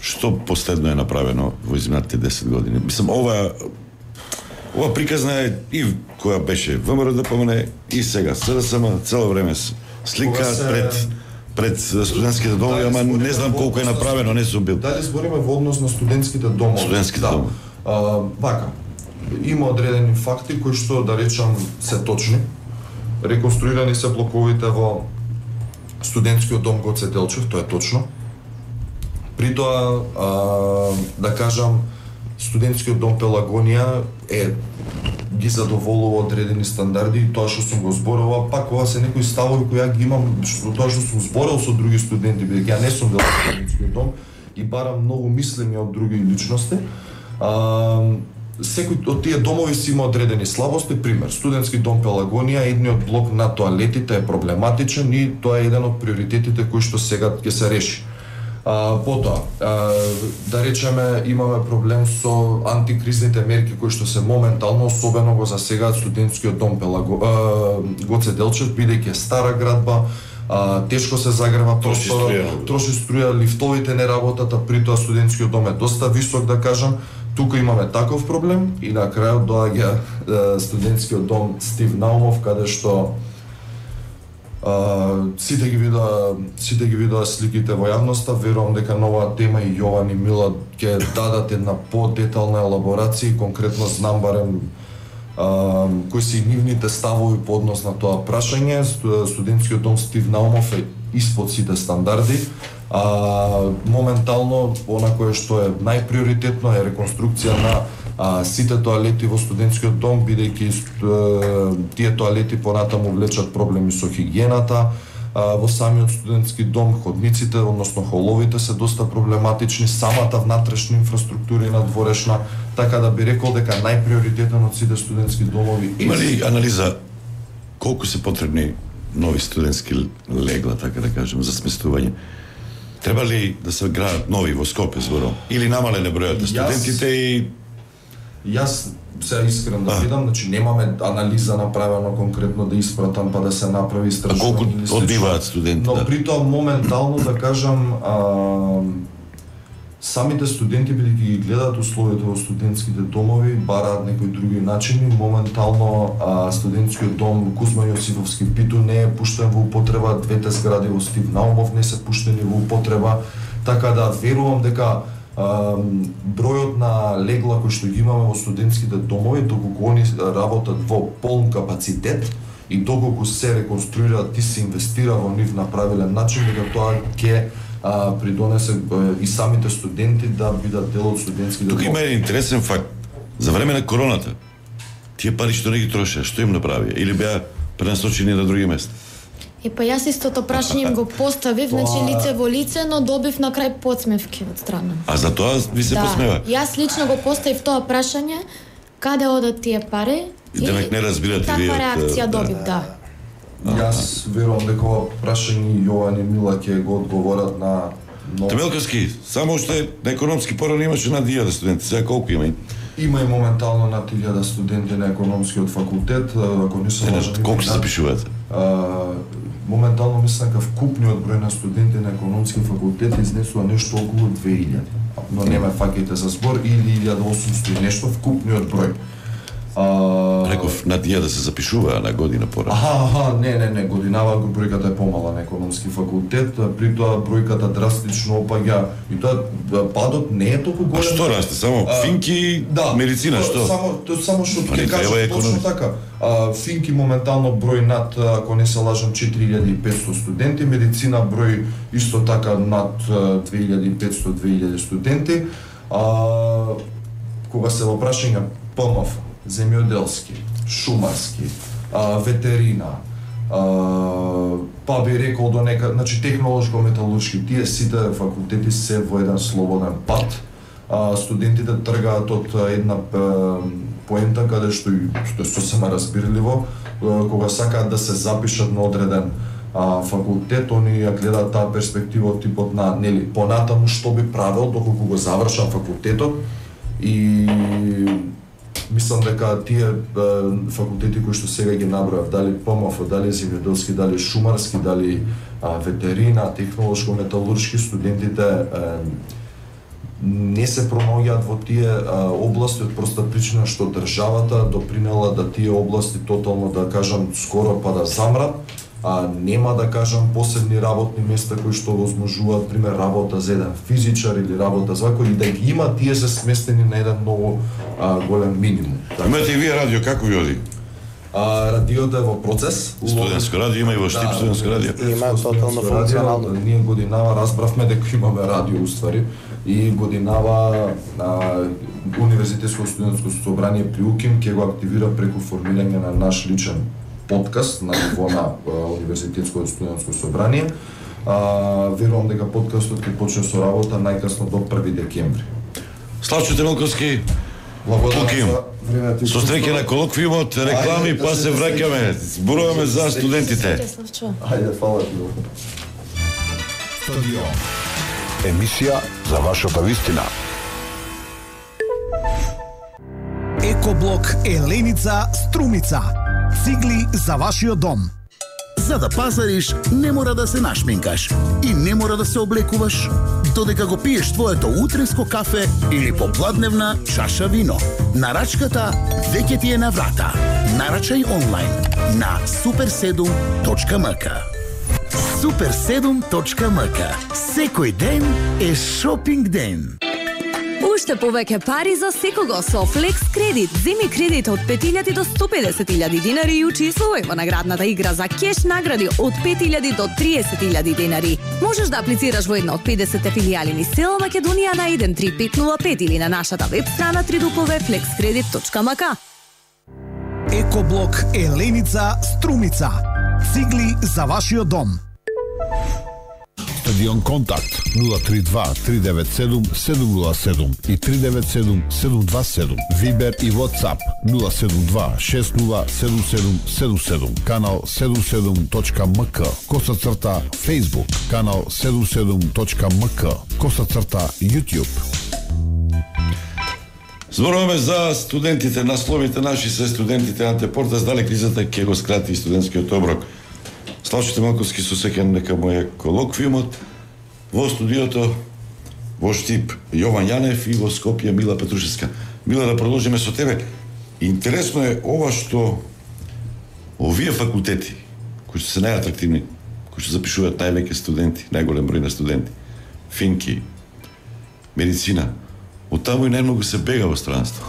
Што последно е направено во изминатите 10 години? Мислам, ова приказна е и која беше ВМРО да помне и сега СДСМ цело време слика пред студентските домови, ама не знам колку е направено, не сум бил. Дали збориме во однос на студентските домови? Студентските домови. Вака, има одредени факти кои што да речам се точни. Реконструирани се блоковите во студентскиот дом Гоце Делчев, тоа е точно. При тоа, да кажам, студентскиот дом Пелагонија ги задоволува одредени стандарди и тоа што сум го зборувал, пак ова се некои ставови кои ја ги имам, тоа што сум зборил со други студенти, бидејќи ја не сум дел од студентскиот дом и барам многу мислење од други личности. Секој од тие домови си има одредени слабости, пример, студентски дом Пелагонија, едниот блок на тоалетите е проблематичен и тоа е еден од приоритетите кои што сега ќе се реши. Потоа, да речеме, имаме проблем со антикризните мерки кои што се моментално, особено го засегаат студентскиот дом Гоце Делчев, бидејќи е стара градба, тешко се загрева простора, троши струја, лифтовите не работат, а при тоа студентскиот дом е доста висок, да кажам. Тука имаме таков проблем и на крајот доаѓа студентскиот дом Стив Наумов, каде што сите ги видоа сликите во јавноста. Верувам дека новаа тема и Јован и Мила ќе дадат една по-детална елаборација, конкретно знам барем кои се нивните ставови по однос на тоа прашање. Студентскиот дом Стив Наумов е испод сите стандарди. Моментално, она кое што е најприоритетно е реконструкција на сите тоалети во студентскиот дом, бидејќи тие тоалети понатаму влечат проблеми со хигиената. Во самиот студентски дом ходниците, односно холовите се доста проблематични, самата внатрешна инфраструктура и надворешна, така да би рекол дека најприоритетен од сите студентски домови. Има ли анализа колку се потребни нови студентски легла, така да кажем, за сместување? Треба ли да се градат нови во Скопје, зборам? Или намален е бројот на студентите и... Јас се искрен да видам, значи немаме анализа направено конкретно да испратам па да се направи истражување. А колку одбиваат студенти? Но при тоа моментално, да кажам, самите студенти бидејќи ги гледаат условията во студентските домови, бараат некои други начини. Моментално студентскиот дом Кузма Јосифовски Питу не е пуштен во употреба, двете згради во Стив Наумов не се пуштени во употреба, така да верувам дека бројот на легла кои што ги имаме во студентските домови, доколку они работат во полн капацитет и доколку се реконструираат и се инвестира во нив на правилен начин, дека тоа ќе придонесе и самите студенти да бидат дел од студентските домови. Тука има еден интересен факт. За време на короната, тие пари што не ги трошеа, што им направија? Или беа пренасочени на други места? Па јас истото прашање им го поставив, значи лице во лице, но добив на крај подсмевки од страна. А за тоа ви се посмева? Јас лично го поставив тоа прашање, каде одат тие пари? И демек не разбирате вие. Таква реакција добив, да. Јас верувам дека ова прашање Јован и Мила ќе го одговорат на Темелковски, само уште на економски порано имаше над 1000 студенти, сега колку има? Има и моментално над 1000 студенти на економскиот факултет, ако не се лажам. Колку се запишуваат? Моментално мислам дека вкупниот број на студенти на економски факултет изнесува нешто околу 2000. Но нема фаќајте за збор, или 1800 и нешто вкупниот број. Реков над 1000 се запишува на година порано. Не, годинава бројката е помала на економски факултет, при тоа бројката драстично опаѓа и тоа падот не е толку голем. А што расте? Само финки, медицина, што? Само што ќе кажам точно така. Финки моментално број над, ако не се лажам, 4500 студенти, медицина број исто така над 2500-2000 студенти. Кога се во прашање ПМФ, земјоделски, шумарски, ветерина, па би рекол до нека, значи технолошко-металуршки, тие сите факултети се во еден слободен пат. Студентите тргаат од една поента каде што е сосема разбирливо, кога сакаат да се запишат на одреден факултет, они ја гледаат таа перспектива од типот на, нели, понатаму што би правел доколку го завршам факултетот, и мислам дека тие факултети кои што сега ги набројав, дали ПМФ, дали земјоделски, дали шумарски, дали ветерина, технолошко-металуршки, студентите не се промоѓаат во тие области од проста причина што државата допринела да тие области тотално, да кажам, скоро па да замрат. Нема, да кажам, посебни работни места кои што возможуваат, пример, работа за еден физичар или работа за кој, и да ги има, тие се сместени на еден многу голем минимум. Имате и вие радио, како ви оди? Радиото е во процес. Студентско радио има и во Штип студентско радио. Има тотално функционално. Ние годинава разбравме дека имаме радио уствари, и годинава Универзитетско студентско собрание при УКИМ ќе го активира преку формирање на наш личен подкаст на ниво на Универзитетско студентско собрание. Верувам дека подкастот ќе почне со работа најкасно до 1 декември. Славчо Темелковски, благодарам за времето. Со среќа на колоквиумот, реклами, па се враќаме. Зборуваме за студентите. Ајде, фала ти. Стадион. Емисија за вашата вистина. Екоблок Еленица Струмица. Цигли за вашиот дом. За да пазариш, не мора да се нашминкаш и не мора да се облекуваш, додека го пиеш твоето утринско кафе или попладневна чаша вино. Нарачката веќе ти е на врата. Нарачај онлайн на super7.mk. super7.mk. Секој ден е шопинг ден. Уште повеќе пари за секого со Flex Кредит. Земи кредит од 5000 до 150.000 динари и учествувај во наградната игра за кеш награди од 5000 до 30.000 динари. Можеш да аплицираш во една од 50 филијали низ цела Македонија на 13505 или на нашата веб страна www.flexcredit.mk. Екоблок Еленица Струмица. Цигли за вашиот дом. Стадион Контакт 032 397 707 и 397 727. Вибер и WhatsApp 072 607777. Канал 77.mk. _. Facebook. Канал 77.mk. _ YouTube. Зборуваме за студентите, насловите наши се студентите. Анте Портас дали кризата ќе го скрати студентскиот оброк. Славчо Темелковски со сеќан дека му е колоквиумот. Во студиото во Штип Јован Јанев и во Скопје Мила Петрушевска. Мила, да продолжиме со тебе. Интересно е ова што овие факултети кои се најатрактивни, кои што запишуваат највеќе студенти, најголем број на студенти, финки, медицина, од таму и најмногу се бега во странство.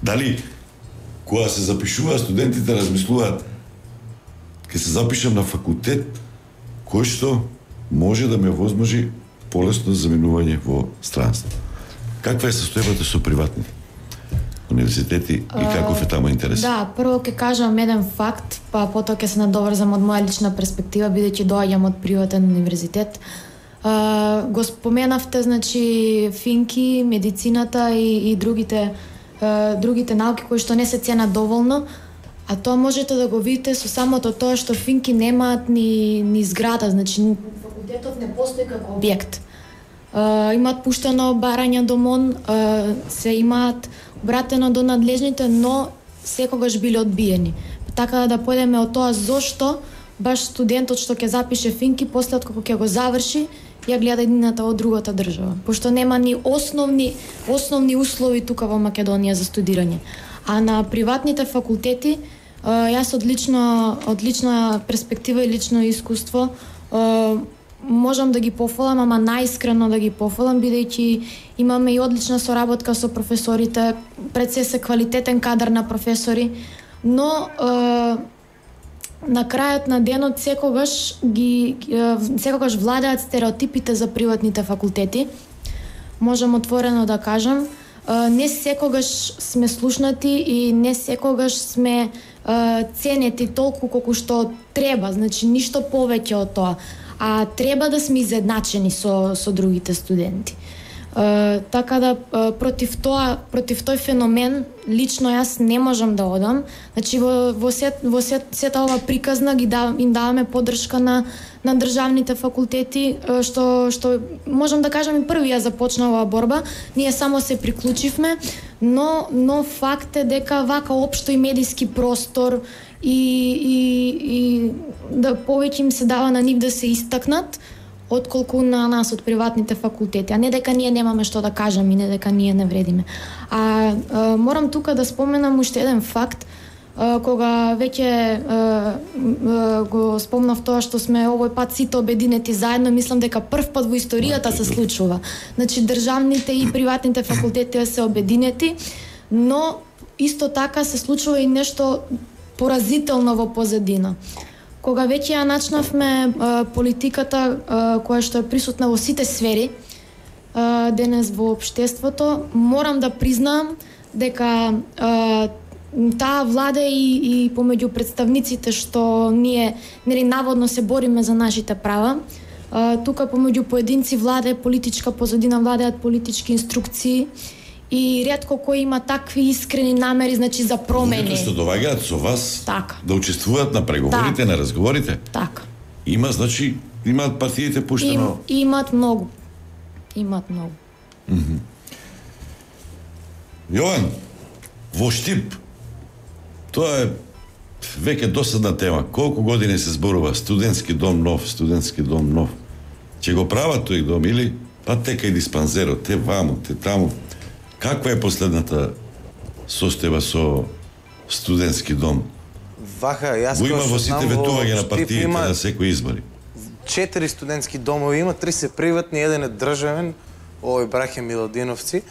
Дали кога се запишуваат студентите размислуваат ќе се запишам на факултет кој што може да ме возможи полесно заминување во странство. Каква е состојбата со приватните? универзитети и каков е таму интерес? Да, прво ќе кажам еден факт, па потоа ќе се надоврзам од моја лична перспектива, бидејќи доаѓам од приватен универзитет. Го споменавте, значи, финки, медицината и другите науки кои што не се ценат доволно, а тоа можете да го видите со самото тоа што финки немаат ни зграда, значи факултетот не постои како објект. Имаат пуштено барање до МОН, се имаат обратено до надлежните, но секогаш биле одбиени. Така да појдеме од тоа зошто баш студентот што ќе запише финки, после откако ќе го заврши, ја гледа едината од другата држава, пошто нема ни основни услови тука во Македонија за студирање. А на приватните факултети, јас од лична перспектива и лично искуство можам да ги пофалам, ама најискрено да ги пофалам, бидејќи имаме и одлична соработка со професорите, пред се квалитетен кадар на професори, но на крајот на денот секогаш владеат стереотипите за приватните факултети. Можам отворено да кажам, не секогаш сме слушнати и не секогаш сме ценети толку колку што треба, значи ништо повеќе од тоа, а треба да сме изедначени со другите студенти. Така да против тој феномен лично јас не можам да одам. Значи во сета ова приказна им даваме поддршка на државните факултети, што можам да кажам и први ја започна оваа борба. Ние само се приклучивме, но факт е дека вака општо и медиски простор и да повеќе им се дава на нив да се истакнат отколку на нас од приватните факултети, а не дека ние немаме што да кажеме и не дека ние не вредиме. Морам тука да споменам уште еден факт, кога веќе го спомнав тоа што сме овој пат сите обединети заедно, мислам дека прв пат во историјата се случува. Значи државните и приватните факултети се обединети, но исто така се случува и нешто поразително во позадина. Кога веќе ја начнавме политиката која што е присутна во сите сфери денес во општеството, морам да признаам дека таа влада и помеѓу представниците што ние наводно се бориме за нашите права, тука помеѓу поединци владе политичка позадина, владеат политички инструкции и ретко кој има такви искрени намери, значи за промени. Што доаѓаат со вас така, да учествуваат на преговорите, на разговорите. Така. Имаат партиите пуштено. Имаат многу. Јован, во Штип, тоа е веќе досадна тема. Колку години се зборува студентски дом нов. Ќе го прават тој дом или па тека и диспанзерот, те ваму, те таму. Каква е последната состојба со студентски дом? Јас го има во сите ветување на партиите на секои избори. 4 студентски домови има, 3 се приватни, еден е државен, овој браќа Милодиновци.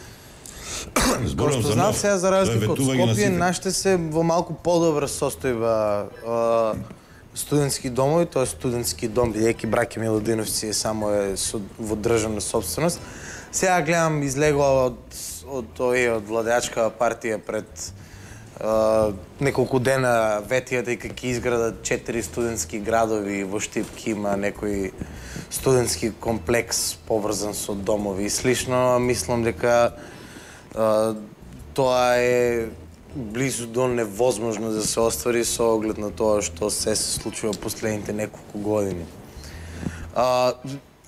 Зборувам за нов. Сега за разлика од Скопје, нашите се во малку подобра состојба студентски домови, тоа е студентски дом, бидејќи браќа Милодиновци е во државна собственост. Сега гледам излегла од владеачка партија пред неколку дена ветија дека ќе изградат 4 студентски градови во Штип, ќе има некој студентски комплекс поврзан со домови и слично. Мислам дека тоа е близу до невозможно да се оствари со оглед на тоа што се случува последните неколку години.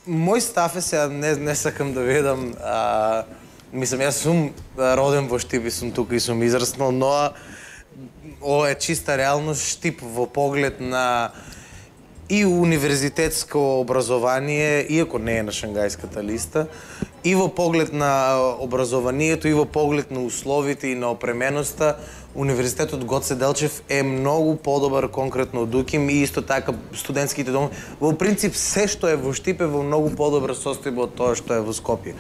Мој став е, сега не сакам да ведам, мислам, јас сум роден во Штип и сум тука и сум израснал, но ова е чиста реалност. Штип во поглед на и универзитетско образование, иако не е на Шангајската листа, и во поглед на образованието, и во поглед на условите и на опременоста, Универзитетот Гоце Делчев е многу подобар конкретно од УКИМ и исто така студентските домови. Во принцип, се што е во Штип е во многу подобра состојба од тоа што е во Скопје.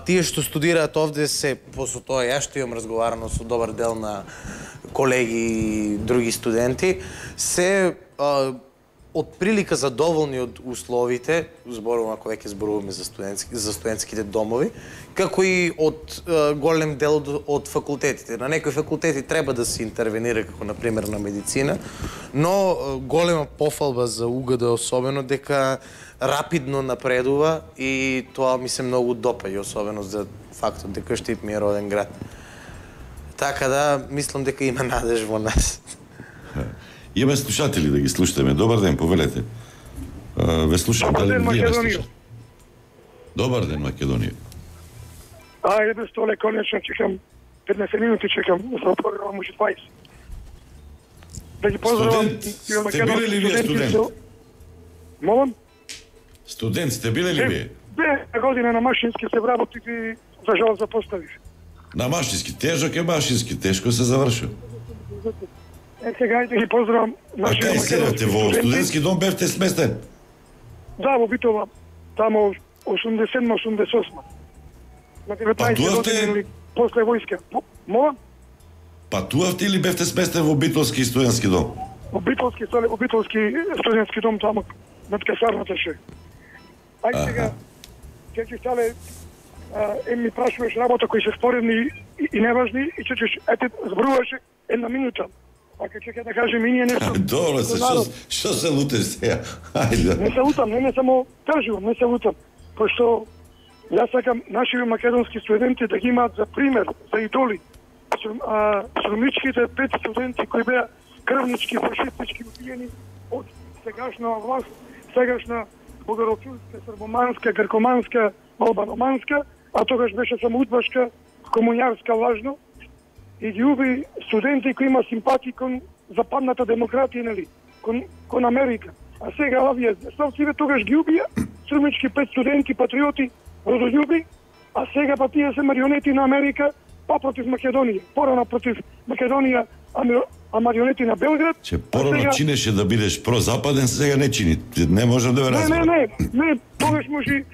Тие што студираат овде се, после тоа јас што имам разговарано со добар дел на колеги и други студенти, се отприлика задоволни од условите, зборувам ако веќе зборуваме за студентските домови, како и од голем дел од факултетите. На некои факултети треба да се интервенира, како на пример на медицина, но голема пофалба за УГД особено дека рапидно напредува и тоа ми се многу допаѓа, особено за фактот дека Штип ми е роден град. Така да, мислам дека има надеж во нас. Имаме слушатели да ги слушаме. Добар ден, повелете. Ве слушам, дали вие ме слушате? Добар ден, Македонија. Ајде, столе, конечно, чекам 15 минути, чекам за програма може 20. Да ги поздравам. Студент, сте биле ли вие студент? Молам? Студент, сте биле ли вие? 2 година на машински се вработив и за жал запоставив. На машински, тежок е машински, тешко се завршил. Сега ајде ги поздравам. А кај седате, во студентски дом бевте сместен? Да, во Битола, тамо 87-88. На 19 години после војска. Молам? Патувавте или бевте сместен во Битолски студентски дом? Во Битолски студентски дом тамо над касарната ше. Ајде сега, ќе стале ми прашуваш работа кои се споредни и неважни и ќе ете зборуваше една минута. А ќе да кажем и ние нешто. Добро се, што се лутеш сега? Ајде. Не се лутам, не само кажувам, не се лутам. Пошто јас сакам нашите македонски студенти да ги имаат за пример, за идоли. Срумичките 5 студенти кои беа крвнички, фашистички убиени од сегашна власт, сегашна бугарофилска, србоманска, гркоманска, албаноманска, а тогаш беше само удбашка, комунјарска лажно, и ги уби студенти кои има симпатии кон западната демократија, нели, кон Америка. А сега овие здесовциве тогаш ги убија, срумички 5 студенти, патриоти, родолюби, а сега па тие се марионети на Америка, па против Македонија. Порано против Македонија, а марионети на Белград. Че порано сега... чинеше да бидеш прозападен, сега не чини. Не можам да ве разберам. Не, тогаш може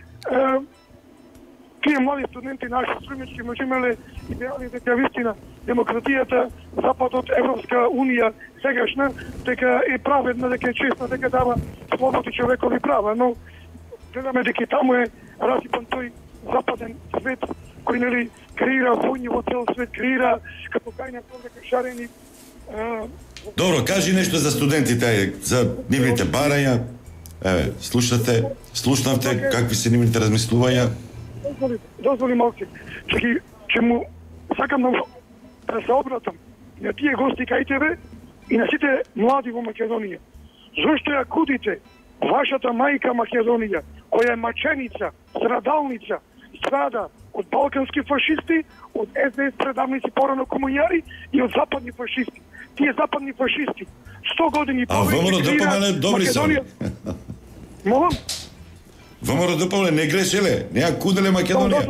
тие млади студенти наши срумички може имале идеали дека вистина демократијата, Западот, Европска унија сегашна, дека е праведна, дека е честна, дека дава слободи човекови права, но гледаме дека таму е расипан тој западен свет кој нели креира војни во цел свет, креира како кајна дека шарени. Добро, кажи нешто за студентите, за нивните барања. Еве, слушнавте какви се нивните размислувања. Дозволи малку. Ќе му сакам да се обратам на тие гости кај тебе и на сите млади во Македонија. Зошто ја кудите вашата мајка Македонија, која е маченица, страдалница, страда од балкански фашисти, од СДС предавници, порано комуњари и од западни фашисти. Тие западни фашисти 100 години ВМРО ДПМН добри се. Молам? ВМРО ДПМН не грешеле, не ја куделе Македонија.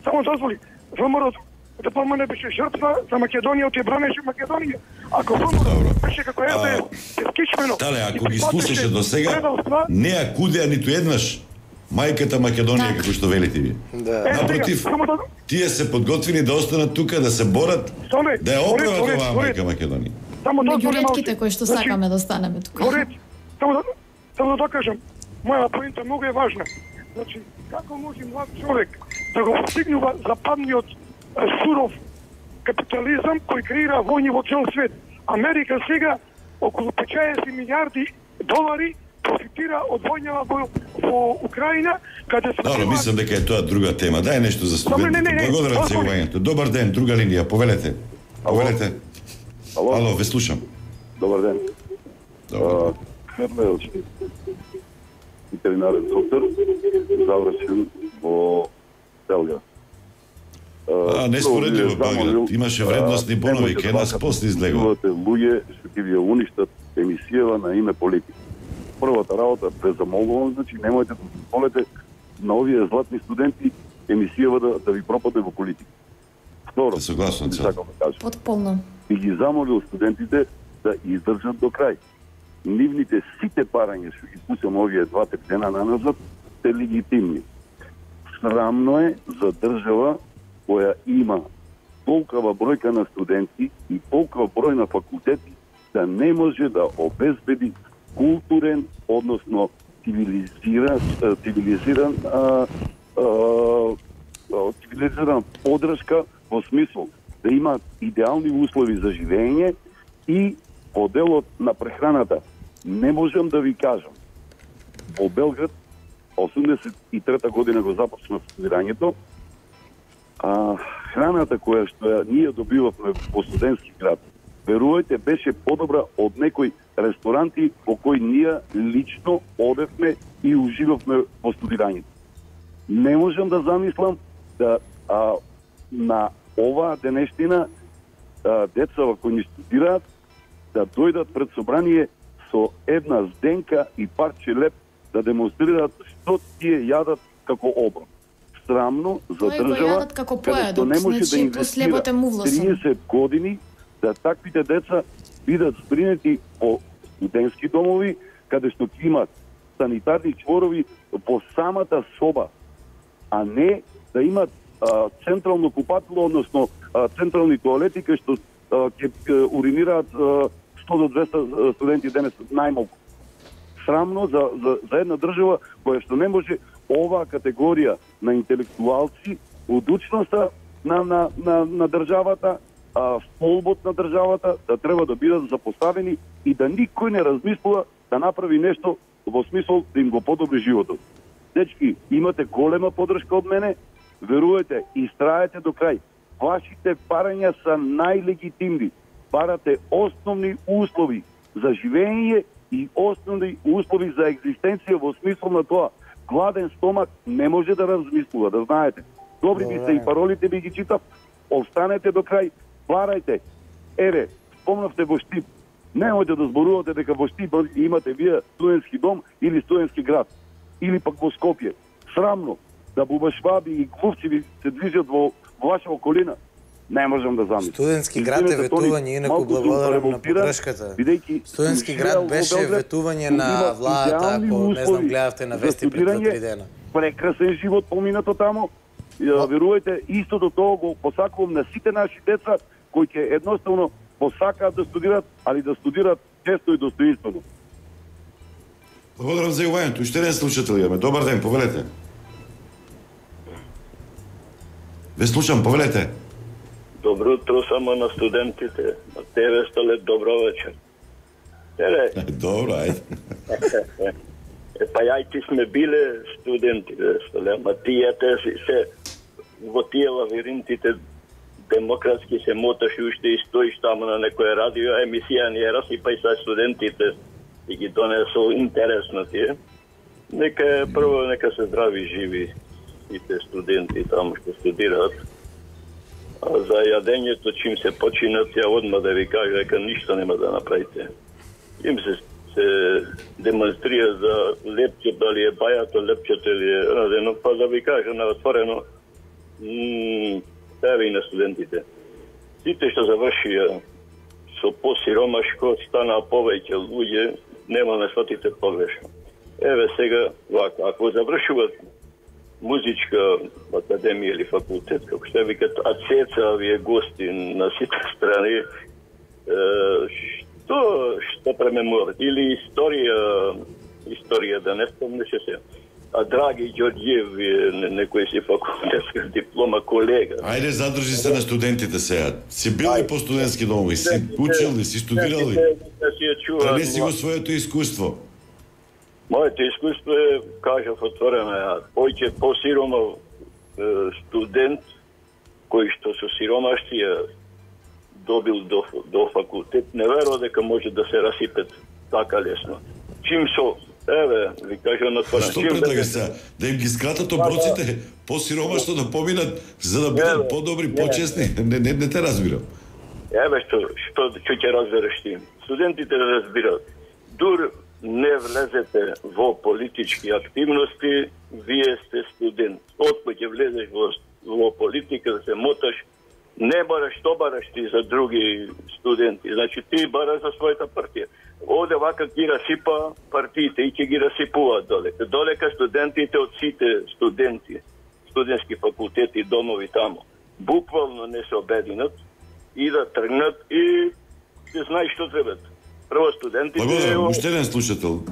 Само дозволи. ВМРО ДПМН беше жртва за Македонија, те бранеше Македонија. Ако ВМРО беше како СДС, скичмено. Тале, ако ги слушаше до сега, не ја кудеа ниту еднаш мајката Македонија, како што велите ви. Напротив, тие се подготвени да останат тука, да се борат, да ја оправат оваа мајка Македонија. Меѓу ретките кои што сакаме да останеме тука. Само да докажам, моја поинта многу е важна. Значи, како може млад човек да го постигнува западниот суров капитализам кој креира војни во цел свет? Америка сега околу 50 милиарди долари профитира од војнава во Украина, каде се... Добро, мислам дека е тоа друга тема. Дај нешто за студентите. Благодарам за увањето. Добар ден, друга линија, повелете. Повелете. Ало, ве слушам. Добар ден. Хермелчи, ветеринарен доктор, завршен во Белград. Не споредливо Белград. Имаше вредностни бонови, кај нас после излегува. Луѓе што ќе ви уништат емисијава на име политика. Првата работа, презамолувам, значи немојте да дозволите на овие златни студенти емисијава да ви пропадне во политика. Второ, согласен се. Потполно. И ги замолил студентите да издржат до крај. Нивните сите барања што ги пусам овие 2-3 дена назад се легитимни. Срамно е за држава која има толкова бројка на студенти и толкова број на факултети да не може да обезбеди културен, односно цивилизиран подршка во смисол да има идеални услови за живење и по делот на прехраната. Не можам да ви кажам. Во Белград 83-та година го започна студирањето, храната која што ние добивавме во студентски град, верувајте, беше подобра од некои ресторанти во кои ние лично одевме и уживавме во студирањето. Не можам да замислам да на оваа денештина децава кои ни студираат да дојдат пред собрание со една зденка и парче леп да демонстрираат што тие јадат како оброк. Срамно за држава каде што не може да инвестира 30 години да таквите деца бидат збринети по студентски домови, каде што ќе имат санитарни чворови по самата соба, а не да имат централно купатило, односно централни тоалети кај што ќе уринираат 100 до 200 студенти денес најмалку. Срамно за една држава која што не може оваа категорија на интелектуалци, удучноста на државата, столбот на државата да треба да бидат запоставени и да никој не размислува да направи нешто во смисол да им го подобри животот. Дечки, имате голема поддршка од мене, верувате, истраете до крај. Вашите барања са најлегитимни. Барате основни услови за живење и основни услови за екзистенција во смисол на тоа. Гладен стомак не може да размислува, да знаете. Добри би се и паролите би ги читав, останете до крај, барајте. Еве, спомнавте во Штип. Немојте да зборувате дека во Штип имате вие студентски дом или студентски град. Или пак во Скопје. Срамно да бубашваби и клувчеви се движат во ваша околина. Не можам да замислам. Студентски град е ветување, инаку благодарам на поддршката. Студентски град беше ветување на владата, ако не знам гледавте на вести пред 2-3 дена. Прекрасен живот поминато тамо. Верувајте, истото тоа го посакувам на сите наши деца кои ќе едноставно посакаат да студират, али да студират често и достоинствено. Благодарам за јавањето. Уште еден слушател имаме. Добар ден, повелете. Ве слушам, повелете. Добро утро само на студентите. На тебе, Столет, добро вечер. Добро, ајде. Па јајти сме биле студенти, Столет, ама тие се во тие лавиринтите демократски се моташ и уште и стоиш таму на некоја радио емисија, ние расипај са студентите и ги донесо интересно тие. Нека се здрави и живи сите студенти таму што студираат. А за јадењето, чим се починат, ја одма да ви кажа дека ништо нема да направите. Им се демонстрира за лепчето, дали е бајато лепчето или е радено, па да ви кажа на отворено, и на студентите. Сите што завршија со посиромашко, станаа повеќе луѓе, нема да сватите погрешно. Еве сега, вака, ако завршуват музичка академија или факултет, како што викат, а цеца вие гости на сите страни, што премеморат? Или историја да не спомнеше се. А Драги Ѓорѓиев е некој си факултетска диплома колега. Ајде, задржи се на студентите сега. Си бил и по студентски домови, си учил ли, си студирал ли? Пренеси го своето искуство. Моето искуство е, кажав отворено, појќе посиромав студент кој што со сиромаштија добил до факултет, не верува дека може да се расипет така лесно. Чим со еве, ви кажам отворено. Што предлагаш сега? Да им ги скратат оброците, посиромашно да поминат, за да бидат подобри, почесни? Не те разбирам. Еве што ќе разбереш ти. Студентите да разбират. Дур не влезете во политички активности, вие сте студент. Откој ќе влезеш во политика да се моташ, не бараш ти за други студенти. Значи ти бараш за својата партија. Оде вака ги расипа партиите и ќе ги расипуваат долека. Долека студентите од сите студенти, студентски факултети, домови тамо, буквално не се обединат и да тргнат и да знаеш што требат. Прво студентите... Благодарам, уште еден слушател.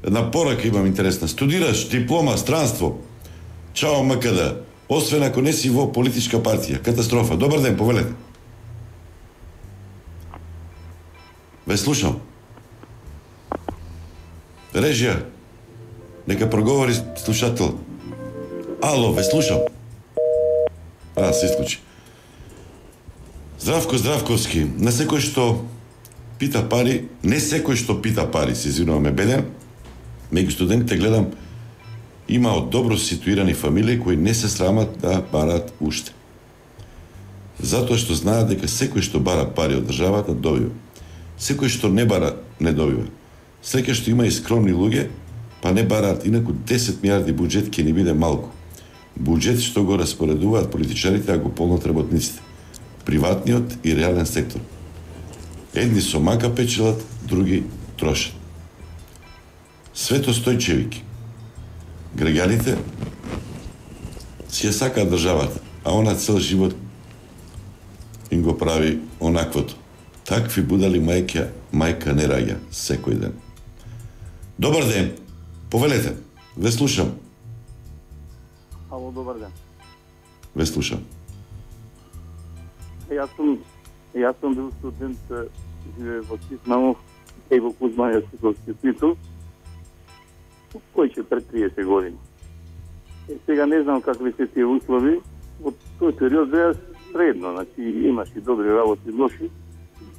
Една порака имам интересна. Студираш, диплома, странство. Чао МКД. Освен ако не си во политичка партија. Катастрофа. Добар ден, повелете. Ве слушам. Режија. Нека проговори слушател. Ало, ве слушам. Се исклучи. Здравко Здравковски. Не секој што пита пари, се извинуваме беден, меѓу студентите гледам има од добро ситуирани фамилии кои не се срамат да барат уште. Затоа што знаат дека секој што бара пари од државата добива. Секој што не бара не добива. Среќа што има и скромни луѓе, па не бараат, инаку 10 милиарди буџет ќе ни биде малку. Буџет што го распоредуваат политичарите, а го полнат работниците. Приватниот и реален сектор. Едни со мака печелат, други трошат. Свето Стојчевики. Граѓаните си ја сакаат државата, а она цел живот им го прави онаквото. Такви будали мајка не раѓа секој ден. Добар ден, повелете, ве слушам. Ало, добар ден. Ве слушам. Јас сум бил студент, живее во Тиснамов и во Кузман Јасиковски титул, кој ќе пред 30 години. Сега не знам какви се тие услови, во тој период беа средно, значи имаш и добри работи, лоши,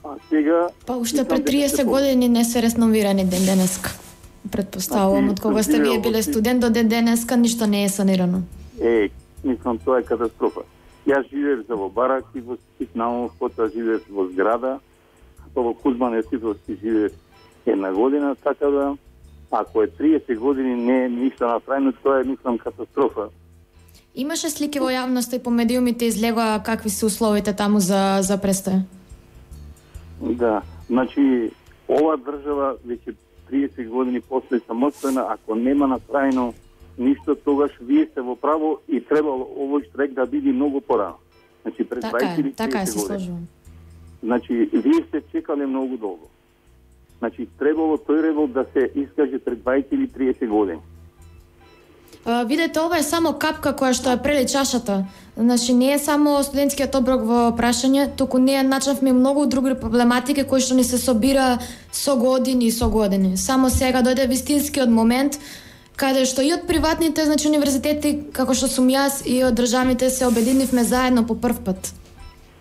а сега... Па уште пред 30 години не се ресновирани ден денеска. Предпоставувам, од кога сте вие биле студент до ден денеска, ништо не е санирано. Мислам, тоа е катастрофа. Јас живеев за во бараки, во Тиснамов, потоа живеев во зграда, во Кузман Јасиковски живеев една година, така да, ако е 30 години не е ништо направено, тоа е, мислам, катастрофа. Имаше слики во јавноста и по медиумите излегоа какви се условите таму за престој? Да, значи, ова држава веќе 30 години после самостојна, ако нема направено ништо, тогаш вие сте во право и требало овој штрек да биде многу порано. Значи, пред 20 или 30 години. Значи, вие сте чекале многу долго. Значи, требало тој револт да се искаже пред 20 или 30 години. Видете, ова е само капка која што ја прели чашата. Значи, не е само студентскиот оброк во прашање, туку ние начнавме многу други проблематики кои што ни се собира со години. Само сега дојде вистинскиот момент каде што и од приватните, значи универзитети, како што сум јас, и од државните се обединивме заедно по прв пат.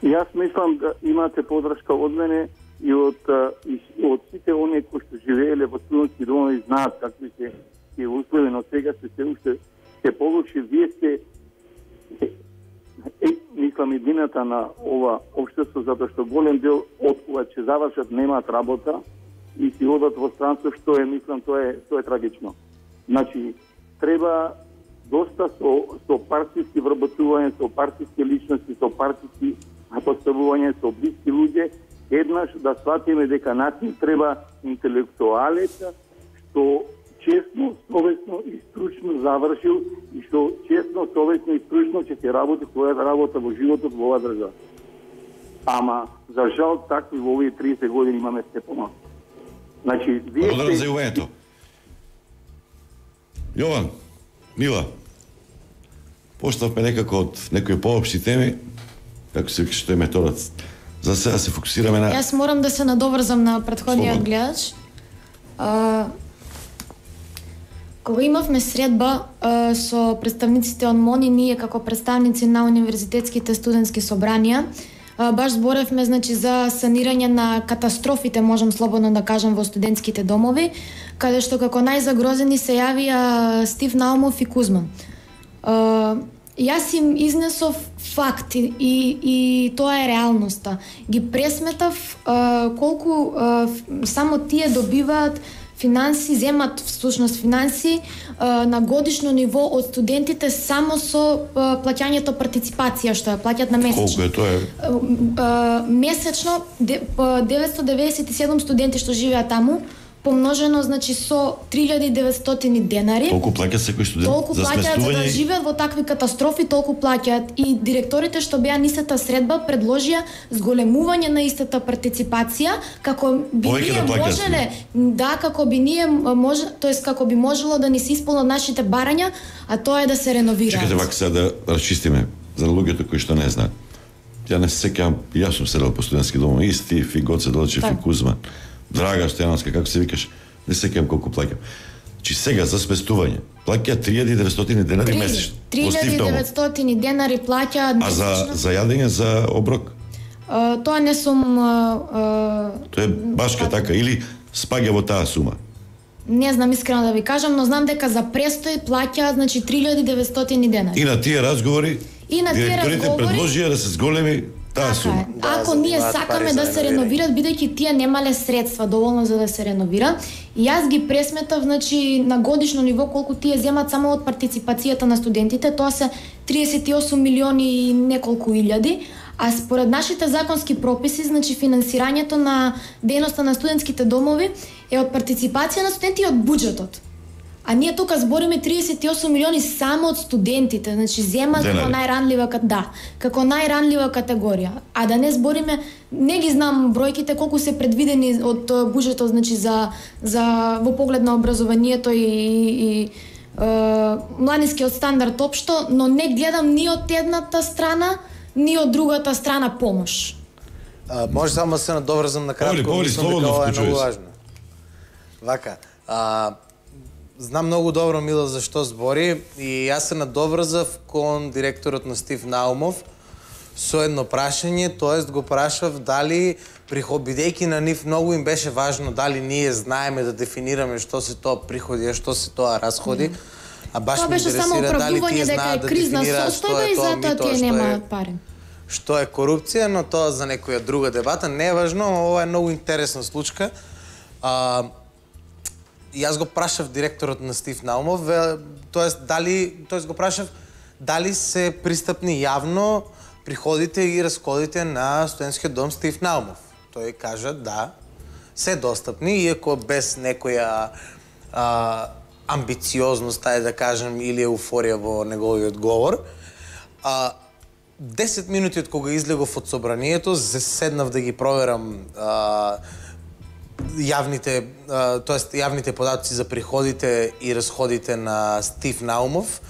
Јас мислам да имате подршка од мене и од сите оние кои што живееле во студентски домови знаат какви се тие услови, но сега се получи, вие сте мислам едината на ова општество, затоа што голем дел од кога ќе завршат немаат работа и си одат во странство, што е, мислам, тоа е трагично. Значи, треба доста со партиски вработување, со партиски личности, со партиски поставување, со блиски луѓе, еднаш да сватиме дека начин треба интелектуалец што честно, совесно и стручно завршил и што честно, совесно и стручно ќе се работи својата работа во животот во оваа држава. Ама, за жал, такви во овие 30 години имаме сте помалку. Значи, вие благодарам за јувањето. Јован, Мила, почнавме некако од некои поопшти теми, како се вика што е методот. За сега се фокусираме на... Јас морам да се надоврзам на претходниот гледач. Кога имавме средба со представниците од МОНИ, ние како представници на универзитетските студентски собранија, баш зборевме, значи, за санирање на катастрофите, можам слободно да кажам, во студентските домови, каде што како најзагрозени се јавија Стив Наумов и Кузман. Јас им изнесов факти и тоа е реалноста. Ги пресметав колку само тие добиваат финанси, земат всушност финанси на годишно ниво од студентите само со плаќањето партиципација што ја плаќат на месечно. Колку е тоа? Месечно 997 студенти што живеат таму помножено значи со 3900 денари. Толку плаќа секој студент Толку за плаќаат за да сместување. живеат во такви катастрофи, толку плаќаат и директорите што беа нисата средба предложија зголемување на истата партиципација како би Повеќе ние да плаќаат. можеле, да, како би ние тоест како би можело да ни се исполнат нашите барања, а тоа е да се реновираат. Чекате вака сега да расчистиме за луѓето кои што не знаат. Ја не се сеќавам, јас сум седел по студентски домови, и Стив, и Гоце Долчев, и Кузман, Драга Стојановска, како се викаш, не се сеќавам колку плаќам. Чи сега за сместување плаќа 3900 денари месечно. 3900 денари плаќаат А за јадење, за оброк? Тоа не сум Тоа е башка така или спаѓа во таа сума? не знам искрено да ви кажам, но знам дека за престој плаќаат значи 3900 денари. И на тие разговори И на тие директорите разговори предложија да се зголеми таа сума. Ако ние сакаме да се реновираат, бидејќи тие немале средства доволно за да се реновира, и јас ги пресметав значи на годишно ниво колку тие земат само од партиципацијата на студентите, тоа се 38 милиони и неколку илјади, а според нашите законски прописи, значи финансирањето на дејноста на студентските домови е од партиципација на студенти и од буџетот. А ние тука збориме 38 милиони само од студентите, значи земат како најранлива како најранлива категорија. А да не збориме, не ги знам бројките колку се предвидени од буџетот, значи за во поглед на образованието и младинскиот стандард општо, но не гледам ни од едната страна, ни од другата страна помош. Може само да се надоврзам на кратко, мислам дека ова е многу важно. Вака, знам многу добро Мила за што збори и јас се надоврзав кон директорот на Стив Наумов со едно прашање, тоест го прашав дали бидејќи на нив многу им беше важно дали ние знаеме да дефинираме што се тоа приходи, а што се тоа расходи. А баш ме интересира дали тие знаат да дефинираат што е тоа мито, што е корупција, но тоа за некоја друга дебата, не е важно, ова е многу интересна случка. Јас го прашав директорот на Стив Наумов, го прашав дали се пристапни јавно приходите и расходите на студентскиот дом Стив Наумов. Тој кажа да, се достапни, иако без некоја амбициозност, тај да кажем, или еуфорија во неговиот говор. 10 минути од кога излегов од собранието, седнав да ги проверам јавните податоци за приходите и расходите на Стив Наумов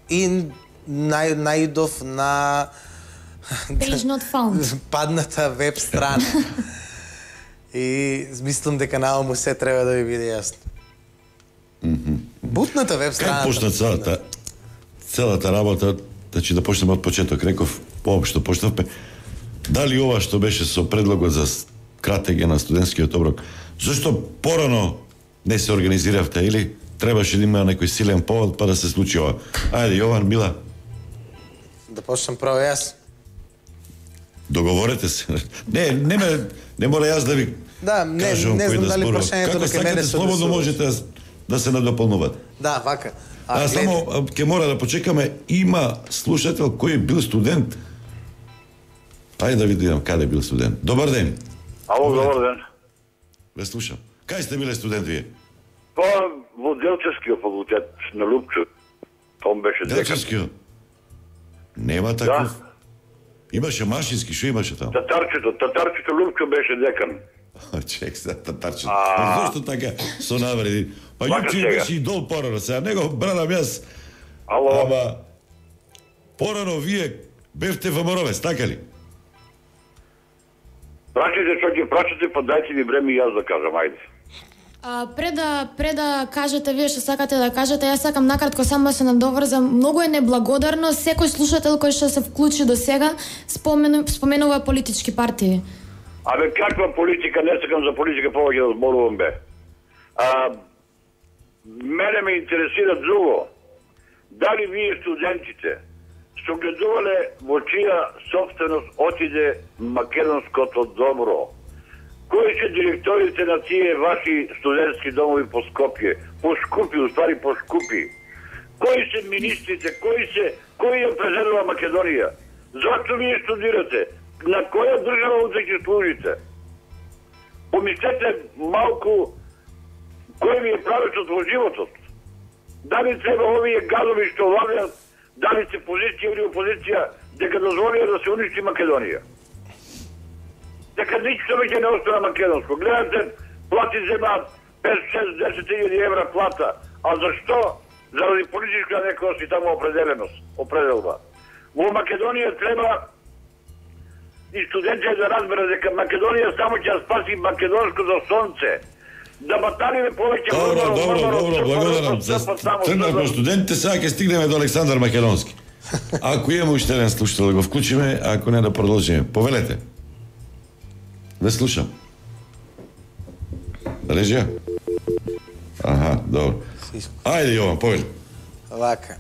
и наидов на Page not found. Падната веб страна. И мислам дека Наумов се треба да ви биде јасно. Бутната веб страна. Как почна целата работа, значи да почнеме од почеток, реков, поопшто почнавме, дали ова што беше со предлогот за кратење на студентскиот оброк, зашто порано не се организиравте или требаше да има некој силен повод па да се случи ова? Ајде, Јован, Мила. Да почнам право јас. Договорете се. Не мора јас да ви кажам кој да зборува. Како сакате, слободно можете да се надополнувате. Да, вака. Само ќе мора да почекаме, има слушател кој бил студент. Ајде да видам каде бил студент. Добар ден. Ало, добар ден. Ве слушам. Кај сте биле студент вие? Па, во Делчевскиот факултет на Лупчо. Том беше декан. Делчевскиот? Нема таков. Да. Имаше машински, што имаше таму? Татарчето Лупчо беше декан. Чек се, татарчето. Зошто така со навреди? Па Јучи беше и дол порано, сега него бранам јас. Ало. Ама, порано вие бевте во Моровец, така ли? Прачете што ќе прачете, па дајте ми време и јас да кажам, ајде. Пред да кажете вие што сакате да кажете, јас сакам накратко само да се надоврзам. Многу е неблагодарно секој слушател кој што се вклучи до сега споменува политички партии. Абе, каква политика, не сакам за политика повеќе да зборувам бе. Мене ме интересира друго. Дали вие студентите согледувале во чија собственост отиде македонското добро? Кои се директорите на тие ваши студентски домови по Скопје? Поскупи, уствари поскупи. Кои се министрите? Кои ја презедува Македонија? Зашто вие студирате? На која држава ќе служите? Помислете малку Кој ми е правецот во животот? Дали треба овие гадови што владеат, дали се позиција или опозиција, дека дозволија да се уништи Македонија? Дека ништо веќе не остана македонско. Гледате, плати земаат 5-6-10 евра плата. А зашто? Заради политичка некојаш и таму определба. Во Македонија треба и студентите да разберат дека Македонија само ќе спаси македонското сонце. Да баталиме повеќе... Добро, благодарам. Тргнавме студентите, сега ќе стигнеме до Александар Македонски. Ако имаме уште еден слушател да го вклучиме, ако не да продолжиме. Повелете. Да слушам. Режија? Аха, добро. Ајде, Јован, повели. Вака,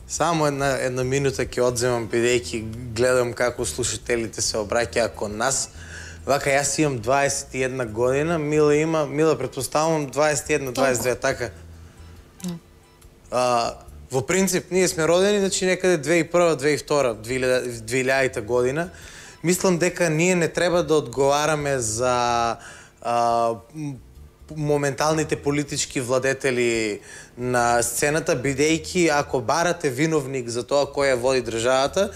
само една минута ќе одземам, бидејќи гледам како слушателите се обраќаат кон нас. Вака, јас имам 21 година, Мила претпоставувам 21-22, така? Во принцип, ние сме родени, значи некаде 2001-2002, 2000 година. Мислам дека ние не треба да одговараме за моменталните политички владетели на сцената, бидејќи ако барате виновник за тоа кој ја води државата,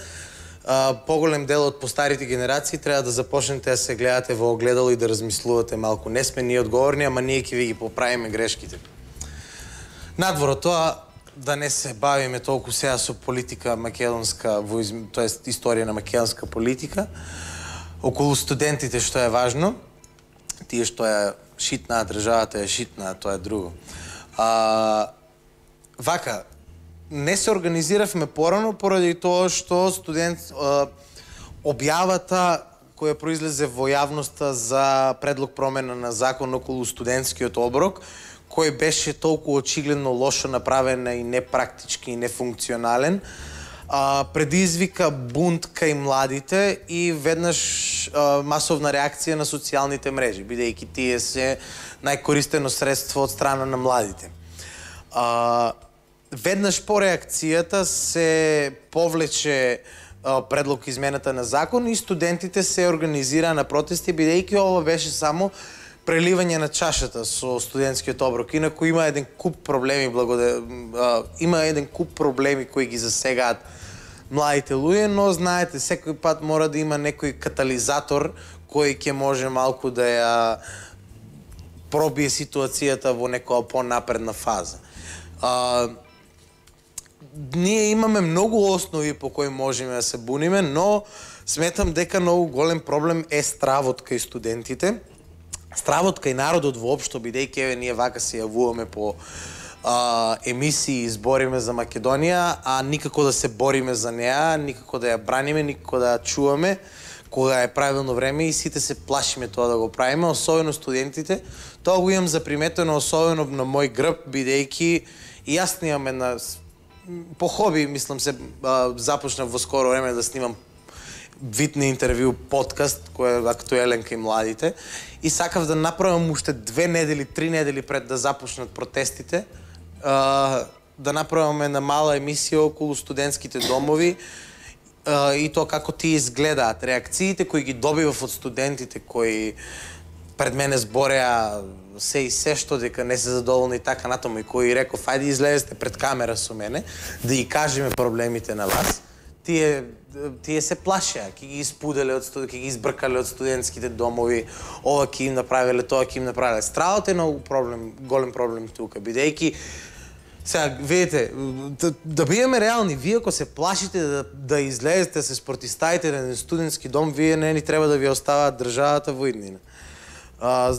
поголем дел од постарите генерации треба да започнете да се гледате во огледало и да размислувате малку. Не сме ние одговорни, ама ние ќе ви ги поправиме грешките. Надвор од тоа, да не се бавиме толку сега со политика македонска, тоест историја на македонска политика, околу студентите што е важно, тие што е шитна, државата е шитна, тоа е друго. Вака, не се организиравме порано поради тоа што објавата која произлезе во јавноста за предлог промена на закон околу студентскиот оброк, кој беше толку очигледно лошо направен и непрактички и нефункционален, предизвика бунт кај младите и веднаш масовна реакција на социјалните мрежи, бидејќи тие се најкористено средство од страна на младите. Веднаш по реакцијата се повлече предлог измената на закон и студентите се организираа на протести, бидејќи ова беше само преливање на чашата со студентскиот оброк. Инаку има еден куп проблеми кои ги засегаат младите луѓе, но знаете, секој пат мора да има некој катализатор кој ќе може малку да ја пробие ситуацијата во некоја понапредна фаза. Ние имаме многу основи по кои можеме да се буниме, но сметам дека многу голем проблем е стравот кај студентите, стравот кај народот воопшто, бидејќи ние вака се јавуваме по емисии, избориме за Македонија, а никако да се бориме за неа, никако да ја браниме, никако да ја чуваме кога е правилно време и сите се плашиме тоа да го правиме, особено студентите. Тоа го имам заприметено особено на мој грб, бидејќи и јас снимам една по хоби, мислам се започнав во скоро време да снимам вид на интервју подкаст кој е актуелен кај младите и сакав да направам уште 2 недели, 3 недели пред да започнат протестите, да направам една мала емисија околу студентските домови и тоа како тие изгледаат, реакциите кои ги добивав од студентите кои пред мене збореа се и се што дека не се задоволни и така натаму и кои реков ајде излезете пред камера со мене да ги кажеме проблемите на вас. Тие се плашеа, ќе ги испуделе ќе ги избркале од студентските домови, ова ќе им направиле, тоа ќе им направиле. Стравот е многу голем проблем тука, бидејќи сега видите, да бидеме реални, вие ако се плашите да излезете, се спротивставите на еден студентски дом, вие не ни треба да ви оставаат државата во иднина.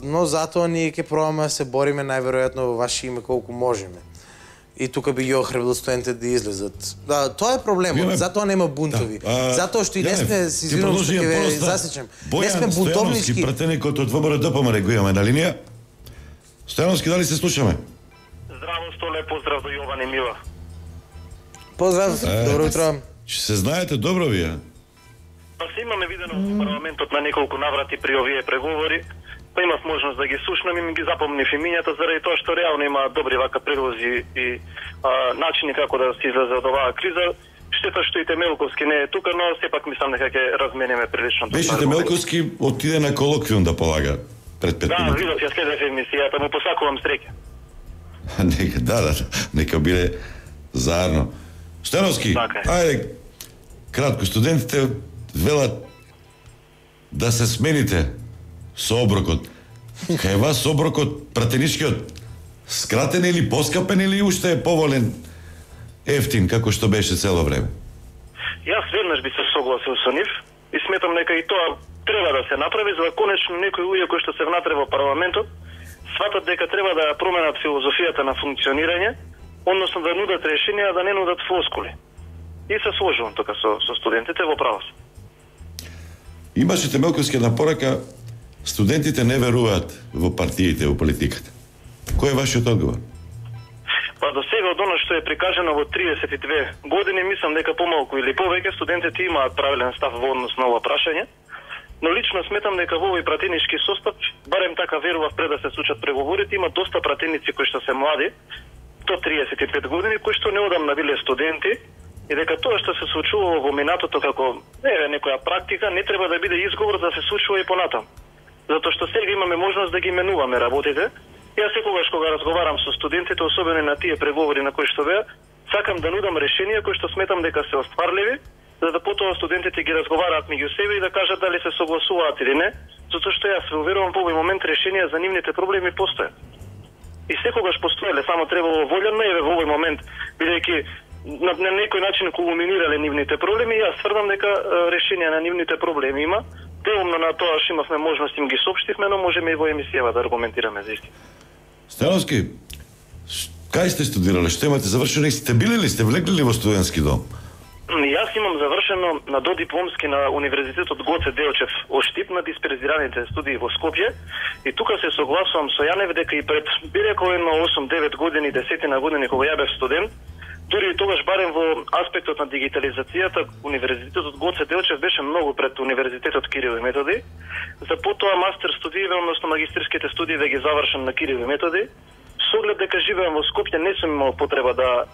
Но затоа ние ќе пробаме да се бориме најверојатно во ваше име колку можеме. И тука би ги охрабрил студентите да излезат. Тоа е проблемот, затоа нема бунтови. Затоа што и не сме, се извинувам што ќе ве засечам, не сме бунтовнички. Пратеникот од ВБР-ДПМН го имаме на линија. Стојановски, дали се слушаме? Здраво, Столе, поздрав до Јован и Мила. Поздрав, добро утро. Се знаете добро вие? Па се имаме видено во парламентот на неколку наврати при овие преговори. Па имав можност да ги слушнам и ми ги запомнив имињата заради тоа што реално има добри вака предлози и начини како да се излезе од оваа криза. Штета што и Темелковски не е тука, но сепак мислам дека ќе размениме прилично. Беше Темелковски отиде на колоквиум да полага. пред 5 Да, минути. видов, ја следев емисијата, му посакувам среќа. Нека, нека биде заедно. Стојановски, ајде, кратко, студентите велат да се смените со оброкот. Кај вас оброкот, пратеничкиот, скратен или поскапен или уште е поволен ефтин, како што беше цело време? Јас веднаш би се согласил со нив и сметам дека и тоа треба да се направи, за да конечно некои луѓе кои што се внатре во парламентот сватат дека треба да ја променат филозофијата на функционирање, односно да нудат решенија, да не нудат флоскули. И се сложувам тука со студентите, во право се. Имаше Темелковски една порака, студентите не веруваат во партиите, во политиката. Кој е вашиот одговор? Па до сега од оно што е прикажано во 32 години, мислам дека помалку или повеќе студентите имаат правилен став во однос на ова прашање, но лично сметам дека во овој пратенички состав, барем така верував пред да се случат преговорите, има доста пратеници кои што се млади, до 35 години, кои што неодамна биле студенти, и дека тоа што се случувало во минатото како некоја практика не треба да биде изговор да се случува и понатам. Затоа што сега имаме можност да ги менуваме работите. Јас секогаш кога разговарам со студентите, особено на тие преговори на кои што беа, сакам да нудам решенија кои што сметам дека се остварливи, за да потоа студентите ги разговараат меѓу себе и да кажат дали се согласуваат или не, затоа што јас се уверувам во овој момент решенија за нивните проблеми постојат. И секогаш постоеле, само требало волја, но еве во овој момент, бидејќи на некој начин кулминирале нивните проблеми, јас тврдам дека решенија на нивните проблеми има. Делумно на тоа што имавме можност им ги соопштивме, но можеме и во емисијава да аргументираме за истина. Стојановски, кај сте студирале? Што имате завршено? Сте били ли, сте влегли ли во студентски дом? Јас имам завршено на додипломски на Универзитетот Гоце Делчев Оштип на дисперзираните студии во Скопје и тука се согласувам со Јанев дека и пред би рекол едно 8-9 години, 10 години кога ја бев студент, дури и тогаш барем во аспектот на дигитализацијата, Универзитетот Гоце Делчев беше многу пред Универзитетот Кирил и Методи. За потоа мастер студиите, односно магистерските студии да ги завршам на Кирил и Методи. Со оглед дека живеам во Скопје, не сум имал потреба да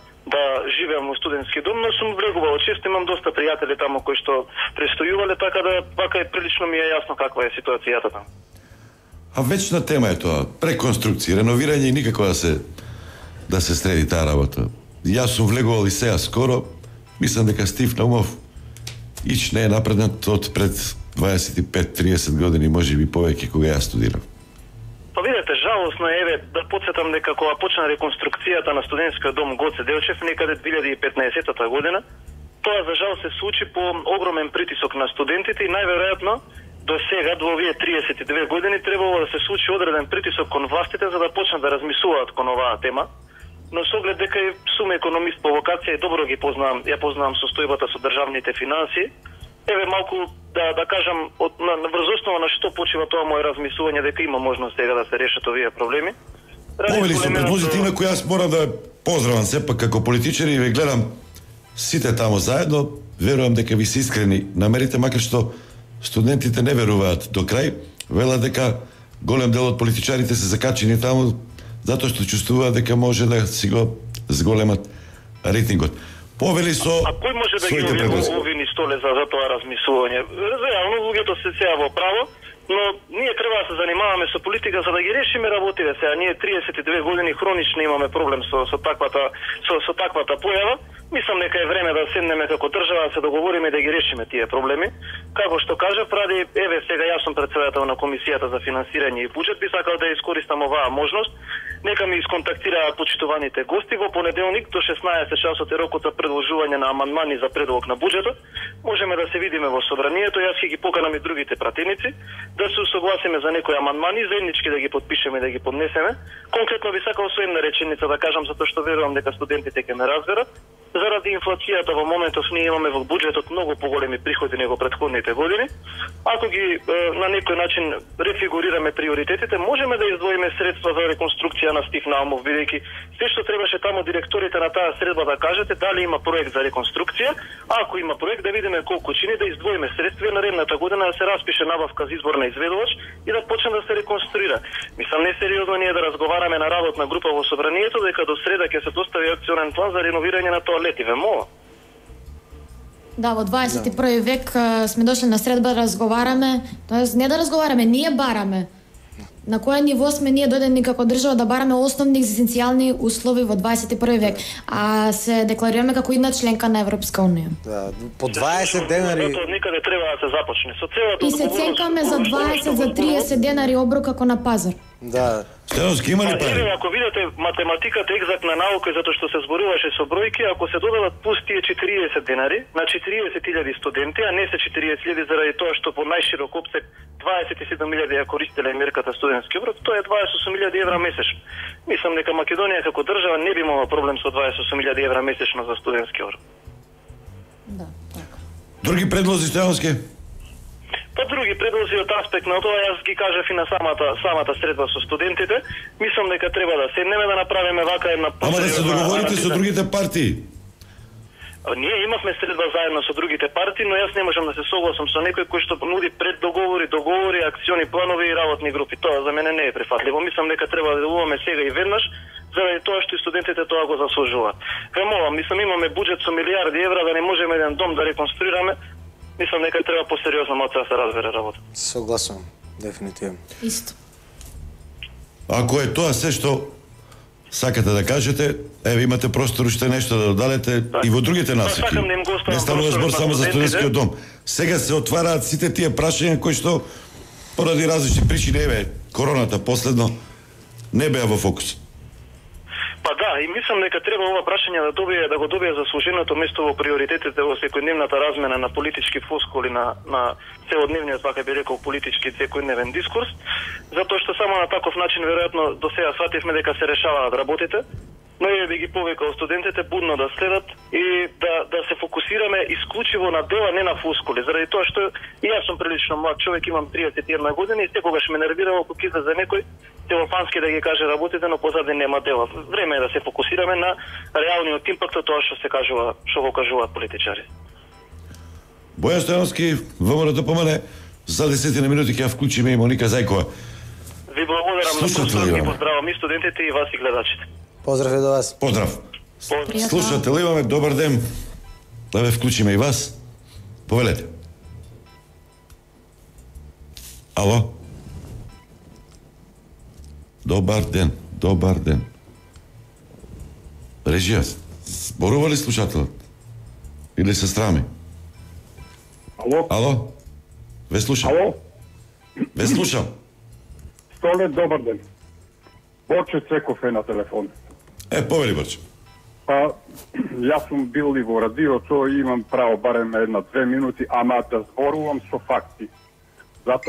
живеам во студентски дом, но сум влегувал често, имам доста пријатели таму кои што престојувале, така да вака прилично ми е јасно каква е ситуацијата таму. А вечна тема е тоа, реконструкција, реновирање и никако да се среди таа работа. Јас сум влегувал и сега скоро, мислам дека Стив Наумов ич не е напреднат од пред 25-30 години, може би повеќе кога јас студирав. Па видете, жалосно е, да подсетам дека кога почна реконструкцијата на студентскиот дом Гоце Делчев некаде 2015 година, тоа за жал се случи по огромен притисок на студентите и најверојатно до сега, до овие 32 години, требало да се случи одреден притисок кон властите за да почнат да размислуваат кон оваа тема. Но со оглед дека сум економист по вокација и добро ја познавам состојбата со државните финансии, еве малку да кажам врз основа на што почива тоа мое размислување дека има можност сега да се решат овие проблеми. Повели со предложите, инаку јас морам да поздравам сепак како политичар и ве гледам сите таму заедно, верувам дека ви се искрени намерите, макар што студентите не веруваат до крај, велат дека голем дел од политичарите се закачени таму затоа што чувствуваат дека може да си го зголемат рейтингот. Повели со А кој може да ги увини столе за тоа размислување? Реално луѓето се сега во право, но ние треба да се занимаваме со политика за да ги решиме работите. Сега ние 32 години хронично имаме проблем со таквата појава. Мислам дека е време да седнеме како држава да се договориме да ги решиме тие проблеми. Како што кажав, ради еве сега јас сум председател на комисијата за финансирање и буџет, би сакал да искористам оваа можност. Нека ми исконтактираат почитуваните гости во понеделник до 16 часот е рокот за предложување на амандмани за предлог на буџетот. Можеме да се видиме во собранието, јас ќе ги поканам и другите пратеници да се усогласиме за некои амандмани, заеднички да ги подпишеме и да ги поднесеме. Конкретно би сакал со една реченица да кажам, затоа што верувам дека студентите ќе ме разберат. Заради инфлацијата во моментов ние имаме во буџетот многу поголеми приходи него претходните години. Ако ги на некој начин рефигурираме приоритетите, можеме да издвоиме средства за реконструкција на Стив Наумов, бидејќи се што требаше таму директорите на таа средба да кажете дали има проект за реконструкција, а ако има проект да видиме колку чини, да издвоиме средства наредната година да се распише набавка за избор на изведувач и да почне да се реконструира. Мислам несериозно ние да разговараме на работна група во собранието дека до среда ќе се достави акционен план за реновирање на тоалети, ве мола. Да, во 21 век сме дошли на средба да разговараме, тоест не да разговараме, ние бараме. На кое ниво сме ние дојдени како држава да бараме основни екзистенцијални услови во 21 век, а се декларираме како една членка на Европска унија. Да, по 20 денари. Од некаде треба да се започне. Со целата И се ценкаме за 20 за 30 денари оброк како на пазар. Да. Стеновски има ли пари? Ако видите математиката екзактна наука затоа што се зборуваше со бројки, ако се додадат плюс тие 40 денари на 40.000 студенти, а не се 40.000 заради тоа што по најширок опсек 27.000 ја користеле мерката студентски оброк, тоа е 28.000 евра месечно. Мислам дека Македонија како држава не би имала проблем со 28.000 евра месечно за студентски оброк. Да, така. Други предлози, Стеновски? Па други предлози од аспект на тоа, јас ги кажав и на самата средба со студентите. Мислам дека треба да седнеме да направиме вака една... Ама да се договорите со другите партии. Ние имавме средба заедно со другите партии, но јас не можам да се согласам со некој кој што нуди договори, акциони планови и работни групи. Тоа за мене не е прифатливо. Мислам дека треба да делуваме сега и веднаш, заради тоа што и студентите тоа го заслужуваат. Ве молам, мислам имаме буџет со милиарди евра да не можеме еден дом да реконструираме. Мислам дека треба посериозно малку да се разбере работа. Согласувам, дефинитивно. Исто. Ако е тоа се што сакате да кажете, еве имате простор уште нешто да додадете и во другите насоки. Не станува збор само за студентскиот дом. Сега се отвараат сите тие прашања кои што поради различни причини, еве, короната последно не беа во фокус. Па да, и мислам дека треба ова прашање да го добие заслуженото место во приоритетите во секојдневната размена на политички флоскули на целодневниот, вака би рекол, политички секојдневен дискурс, затоа што само на таков начин веројатно до сега свативме дека се решаваат работите, но ја би ги повикал студентите будно да следат и да се фокусираме исклучиво на дела, не на флоскули, заради тоа што и јас сум прилично млад човек, имам 31 години и секогаш ме нервирало кога излезе некој телефонски да ги каже работите, но позади нема дела. Време е да се фокусираме на реалниот импакт од тоа што се кажува, што го кажуваат политичари. Бојан Стојановски, ВМРО ДПМН, за 10 минути ќе ја вклучиме и Моника Зајкова. Ви благодарам на слушателите, поздравам и студентите и вас и гледачите. Поздрав и до вас. Поздрав. Слушател, имаме добар ден. Да ве вклучиме и вас. Повелете. Ало? Добар ден, добар ден. Режија, зборува ли слушателот? Или се страми? Ало? Ало? Ве слушам. Ало? Ве слушам. Столе, добар ден. Борче Цеков е на телефон. Повели Борче. Па, јас сум бил и во радиото и имам право барем 1-2 минути, ама да зборувам со факти.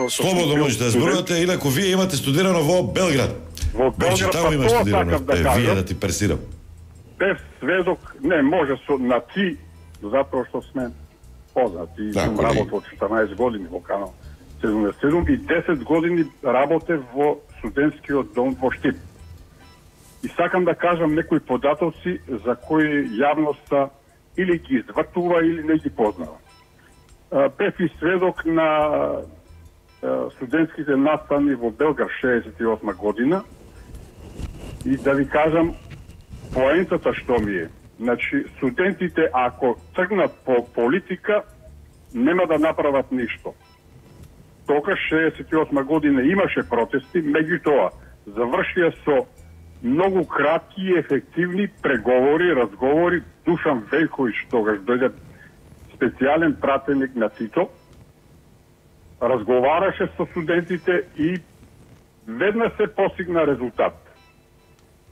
Слободно можете да зборувате, инаку вие имате студирано во Белград. Во Белград, таму имаш студирано. Вие да ти персирам. Бев сведок, не може на ти, затоа што сме познати. Сум работел 14 години во Канал 77 и 10 години работев во студентскиот дом во Штип. И сакам да кажам некои податоци за кои јавноста или ги извртува или не ги познава. Бев и сведок на студентските настани во Белгар 68 година и да ви кажам поентата што ми е. Значи, студентите ако тргнат по политика нема да направат ништо. Тогаш 68 година имаше протести, меѓутоа завршија со многу кратки и ефективни преговори, разговори. Душан Велковиќ тогаш дојде специјален пратеник на Тито, разговараше со студентите и веднаш се постигна резултат.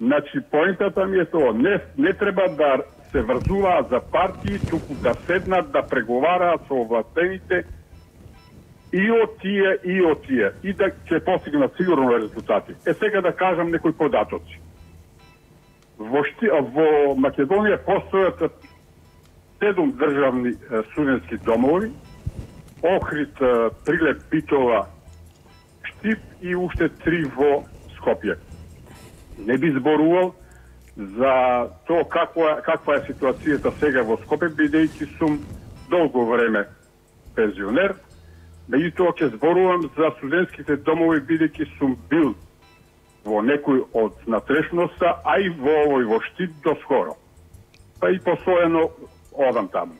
Значи, поентата ми е тоа, не треба да се врзуваат за партии, туку да седнат, да преговараат со овластените и од тие, и да ќе постигнат сигурно резултати. Сега да кажам некои податоци. Во Македонија постојат 7 државни студентски домови, Охрид, Прилеп, Битола, Штип и уште 3 во Скопје. Не би зборувал за тоа каква е ситуацијата сега во Скопје, бидејќи сум долго време пензионер. Меѓутоа ќе зборувам за студентските домови, бидејќи сум бил во некој од натрешноста, а и во овој во Штип доскоро. Па и постојано одам таму.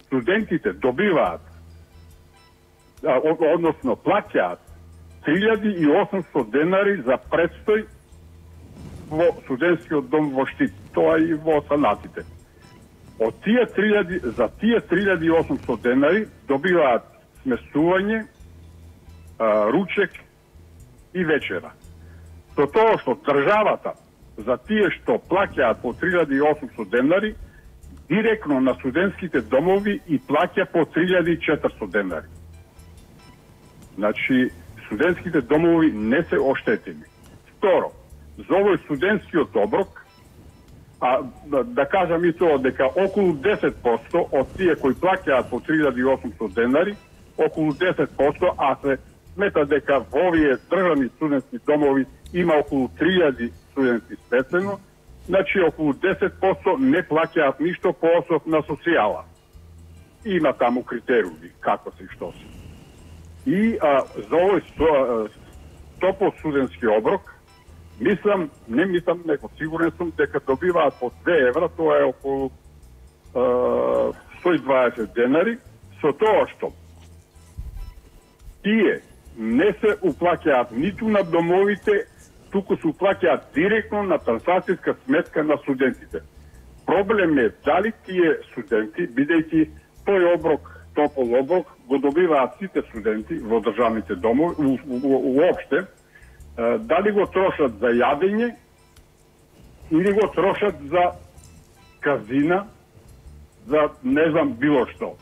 Студентите добиваат, односно плаќаат 3.800 денари за предстој во студентскиот дом во Штип, тоа и во санатите. Од тие 3.800 денари добиваат смесување, ручек и вечера. Со тоа што државата за тие што плаќаат по 3.800 денари, директно на студентските домови и плаќа по 3.400 денари. Значи, студентските домови не се оштетени. Второ, за овој студентскиот оброк, да кажам и тоа дека околу 10% од тие кои плаќаат по 3.800 денари, околу 10%, а се смета дека во овие државни студентски домови има околу 3.000 студенти спецено, значи околу 10% не плаќаат ништо по основ на социјала. Има таму критериуми, како се и што се. И за овој топол студентски оброк, неко сигурен сум дека добиваат по 2 евра, тоа е околу 120 денари, со тоа што тие не се уплаќаат ниту на домовите, туку се уплаќаат директно на трансакцијска сметка на студентите. Проблем е дали тие студенти, бидејќи тој оброк, топол оброк, го добиваат сите студенти во државните домови, уопште, дали го трошат за јадење или го трошат за казина, за не знам било што.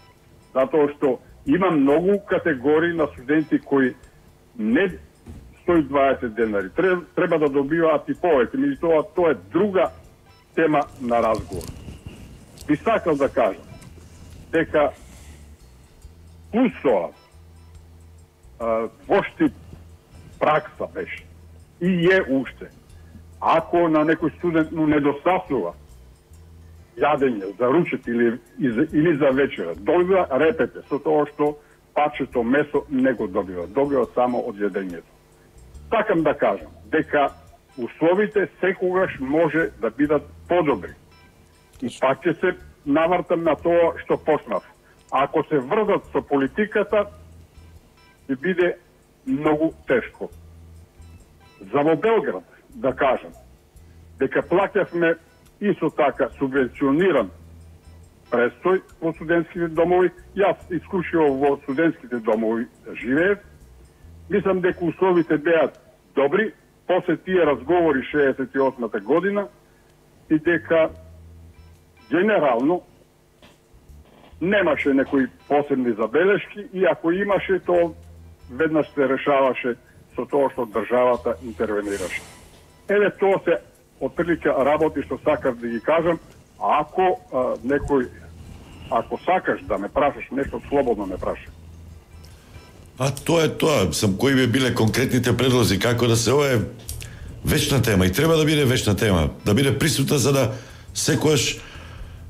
Затоа што има многу категории на студенти кои не 120 денари. Треба да добиваат и повеќе, меѓутоа тоа е друга тема на разговор. Би сакал да кажам дека плюс тоа во Штип пракса беше и е уште. Ако на некој студент му недостасува јадење за ручек или за вечера, добива репете со тоа што пачето месо не го добива само од јадењето. Сакам да кажам дека условите секогаш може да бидат подобри. И пак ќе се навртам на тоа што почнав. Ако се врзат со политиката, ќе биде многу тешко. За во Белград, да кажам, дека плаќавме исто така субвенциониран престој во студентските домови. Јас исклучиво во студентските домови живеев. Мислам дека условите беа добри, после тие разговори 68-та година и дека генерално немаше некои посебни забелешки и ако имаше, то веднаш се решаваше со тоа што државата интервенираше. Еве тоа се отприлика работи што сакав да ги кажам, а ако ако сакаш да ме прашаш нешто, слободно ме прашај. А тоа е тоа, кои би биле конкретните предлози, како да се, ова е вечна тема и треба да биде вечна тема, да биде присутна за да секојаш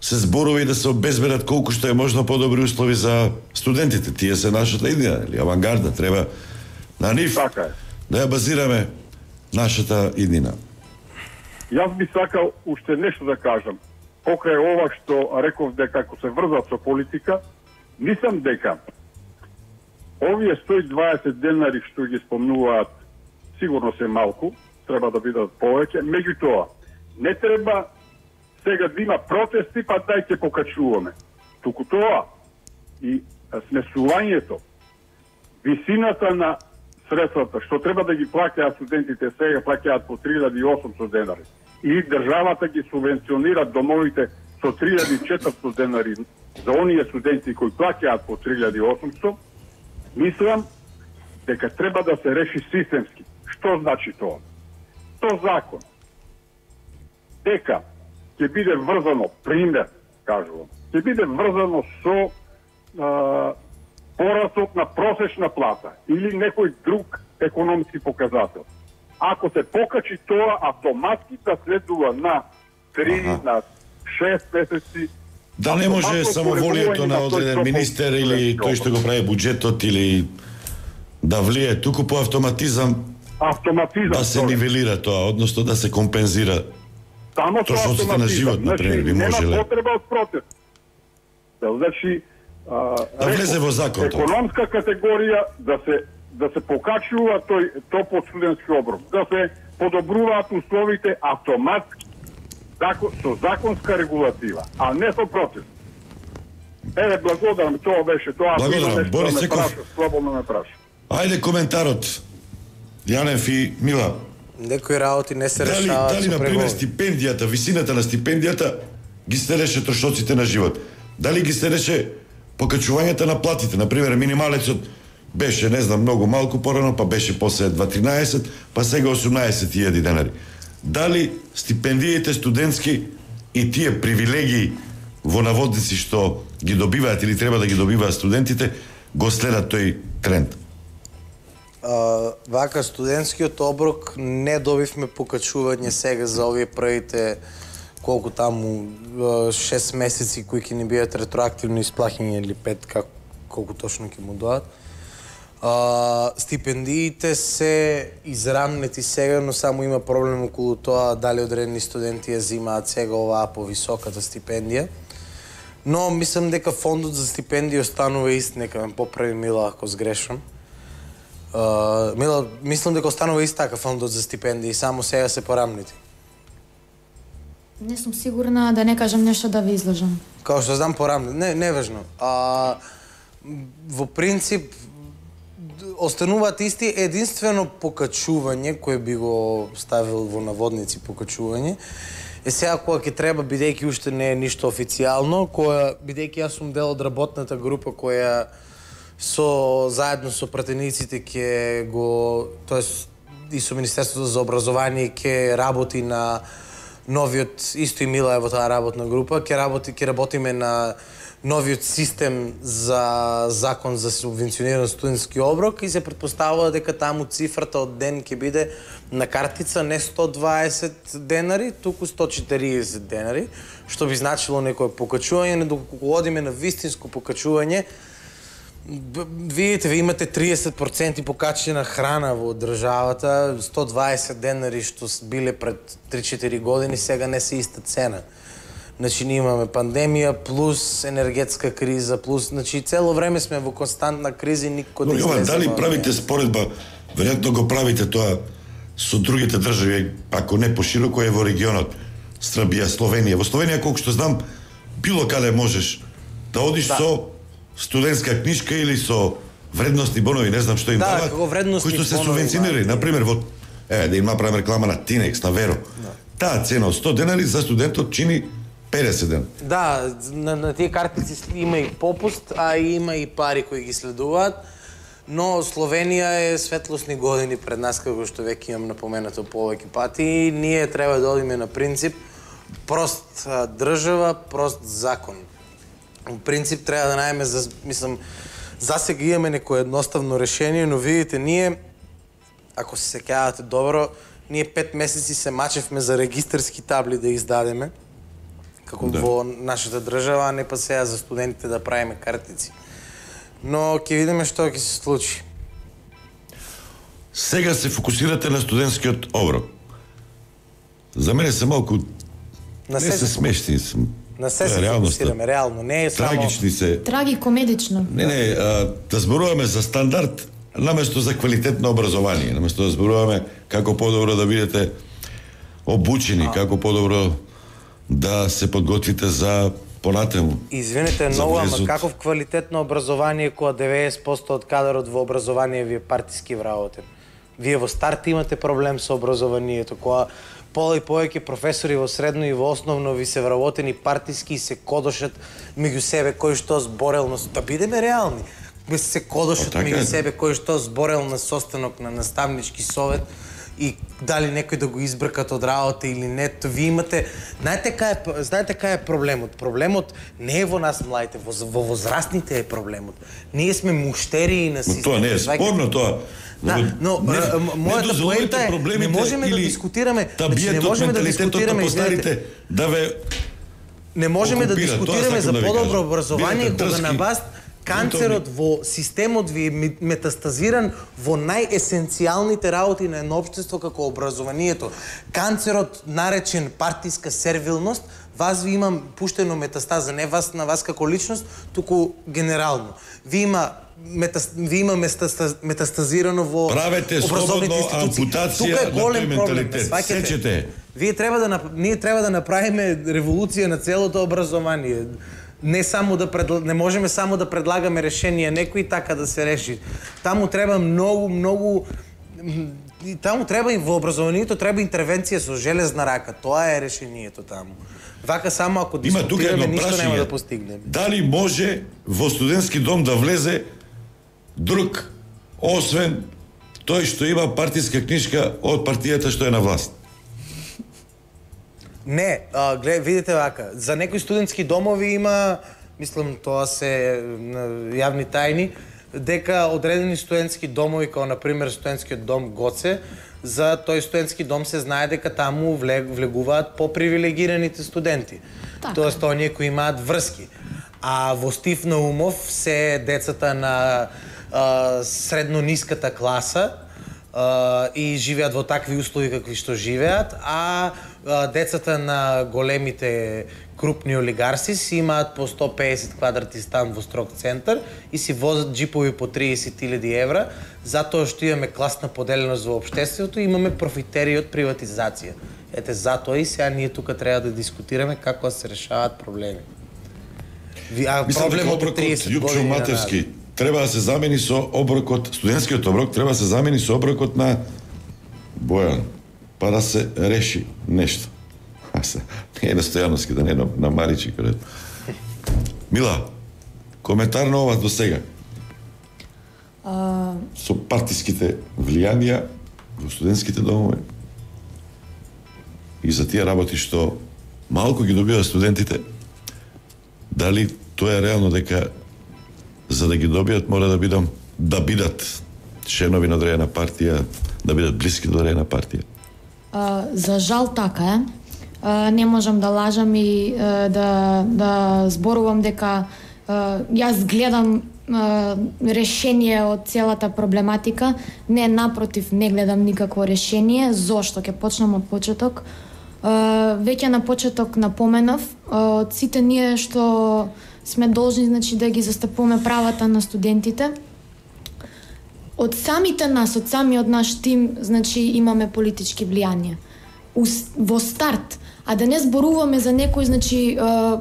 се зборови да се обезбедат колку што е можно подобри услови за студентите. Тие се нашата идеја, или авангарда, треба на нив да ја базираме нашата иднина. Јас би сакал уште нешто да кажам. Покрај ова што реков дека ако се врзат со политика, мислам дека овие 120 денари што ги спомнуваат сигурно се малку, треба да бидат повеќе, меѓутоа не треба сега да има протести, па дај ќе покачуваме. Туку тоа и смесувањето, висината на средствата што треба да ги плаќаат студентите, сега плаќаат по 3.800 денари, или државата ги субвенционира домовите со 3.400 денари за оние студенти кои плаќаат по 3.800, мислам дека треба да се реши системски. Што значи тоа? Тоа закон дека ќе биде врзано, пример, кажувам, ќе биде врзано со порасот на просечна плата или некој друг економски показател. Ако се покачи тоа, автоматски да следува на 3, на 6 месеци. Да не може само волието на одреден министер или тој што го прави буџетот или да влие, туку по автоматизам да се нивелира тоа, односно да се компензира трошоците на живот, например, би можеле. Нема потреба од протест. Значи, да влезе во закон. Економска категорија да се да се покачува то под студентски оброк, да се подобруваат условите автоматски со законска регулатива, а не со протест. Еве, благодарам, тоа беше тоа. Благодарам, Борис Секов. Слободно ме праша. Ајде коментарот, Јанев и Мила. Некои работи не се решаваат. Дали, например, стипендијата, висината на стипендијата ги стереше трошоците на живот? Дали ги стереше покачувањето на платите? Например, минималецот беше, не знам, многу малку порано, па беше после 2.13, па сега 18.000 денари. Дали стипендиите студентски и тие привилегии во наводници што ги добиваат или треба да ги добиваат студентите, го следат тој тренд? Вака, студентскиот оброк не добивме покачување сега за овие првите колку таму 6 месеци кои ќе ни бидат ретроактивно исплаќани или 5, колку точно ќе му доат. Стипендиите се израмнети сега, но само има проблем околу тоа дали одредени студенти ја зимаат сега оваа повисоката стипендија. Но мислам дека фондот за стипендии останува ист, нека ме поправи Мила ако сгрешам. Мила, мислам дека останува ист така фондот за стипендии, само сега се порамнети. Не сум сигурна, да не кажам нешто да ви излажам. Као што знам порамнети, не важно. Во принцип остануваат исти, единствено покачување кој би го ставил во наводници покачување. Сега кога ќе треба, бидејќи уште не е ништо официјално, бидејќи јас сум дел од работната група која заедно со пратениците ќе го, тоест и со Министерството за образование ќе работи на новиот, исто и Мила е во таа работна група, ќе работиме на новиот систем за закон за субвенциониран студентски оброк и се претпоставува дека таму цифрата од ден ќе биде на картица не 120 денари, туку 140 денари, што би значило некое покачување, но доколку одиме на вистинско покачување, видите, ви имате 30% покачена храна во државата, 120 денари што биле пред 3-4 години, сега не се иста цена. Значи, ние имаме пандемија, плюс енергетска криза, плюс, значи, цело време сме во константна криза и никој да излезе. Дали правите споредба, веројатно го правите тоа со другите држави, ако не пошироко е во регионот, Србија, Словенија. Во Словенија, колку што знам, било каде можеш да одиш со студентска книжка или со вредностни бонови, не знам што им дават, кои што се субвенционирани. Например, да им направим реклама на Тинекс, на Веро. Таа цена од 100 денари за студентот чини 50 ден. Да, на тие картици има и попуст, а има и пари кои ги следуваат, но Словенија е светлосни години пред нас, како што веќе имам напоменато повеќе пати, и ние треба да одиме на принцип прост држава, прост закон. Принцип треба да најме, мислам, засега имаме некое едноставно решение, но видите, ние, ако се сеќавате добро, ние 5 месеци се мачевме за регистарски табли да издадеме, како во нашата држава, а не па сега за студентите да правиме картици. Но ќе видиме што ќе се случи. Сега се фокусирате на студентскиот оброк. За мене се малку не се смешни сум. На се фокусираме, реално, не е само... Трагични се. Трагикомедично. Не, да зборуваме за стандард, наместо за квалитетно образование, наместо да зборуваме како подобро да бидете обучени, како подобро да се подготвите за понатаму. Извинете многу, ама каков квалитетно образование кога 90% од кадарот во образование ви е партиски вработен? Вие во старт имате проблем со образованието, кога пола и повеќе професори во средно и во основно ви се вработени партиски и се кодошат меѓу себе кој што зборел на... Да бидеме реални. Се кодошат меѓу себе кој што зборел на состанок на наставнички совет и дали некој да го избркат од работа или не, ви имате... Знаете кај е проблемот? Проблемот не е во нас младите, во возрастните е проблемот. Ние сме муштерии на системот. Тоа не е спорно, тоа... Да, но мојата поента е, не можеме да дискутираме... Не можеме да дискутираме, извинете, не можеме да дискутираме за подобро образование кога на вас канцерот во системот ви е метастазиран во најесенцијалните работи на едно општество како образованието. Канцерот наречен партиска сервилност Вас ви имам пуштено метастаза, не вас на вас како личност, туку генерално. Ви има метастазирано во правете образовните слободно институции. ампутација Тука е на голем тој проблем, менталитет. сваќате? Сечете. Ние треба да направиме револуција на целото образование. Не можеме само да предлагаме решенија некои така да се реши. Таму треба многу таму треба и во образованието треба интервенција со железна рака. Тоа е решението таму. Вака само ако дискутираме ништо нема да постигнеме. Дали може во студентски дом да влезе друг освен тој што има партиска книжка од партијата што е на власт? Не, видите вака, за некои студентски домови има, мислам тоа се јавни тајни, дека одредени студентски домови, како например студентскиот дом Гоце, за тој студентски дом се знае дека таму влегуваат попривилегираните студенти. Тоест, оние кои имаат врски. А во Стив Наумов се децата на средно-ниската класа и живеат во такви услови какви што живеат, а децата на големите крупни олигарси си имаат по 150 квадрати стан во строг центар и си возат джипови по 30.000 евра, затоа што имаме класна поделеност во општеството и имаме профитери од приватизација. Ете, затоа и сега ние тука треба да дискутираме како да се решаваат проблеми. Проблемот од 30 години Матевски треба да се замени со оброкот, студентскиот оброк треба да се замени со оброкот на Бојан, па да се реши нешто. Не е на Стојановски, да не е на Маричи. Мила, коментар на ова до сега? Со партиските влијанија во студентските домови и за тие работи што малку ги добиваат студентите, дали тоа е реално дека за да ги добијат мора да бидат членови на одредена партија, да бидат блиски до одредена партија? За жал така е. Не можам да лажам и да зборувам дека јас гледам решение од целата проблематика. Не, напротив, не гледам никакво решение. Зошто? Ќе почнам од почеток. Веќе на почеток напоменав, од сите ние што сме должни, значи, да ги застапуваме правата на студентите, од самите нас, од самиот наш тим, значи, имаме политички влијанија. Во старт, а да не зборуваме за некои, значи,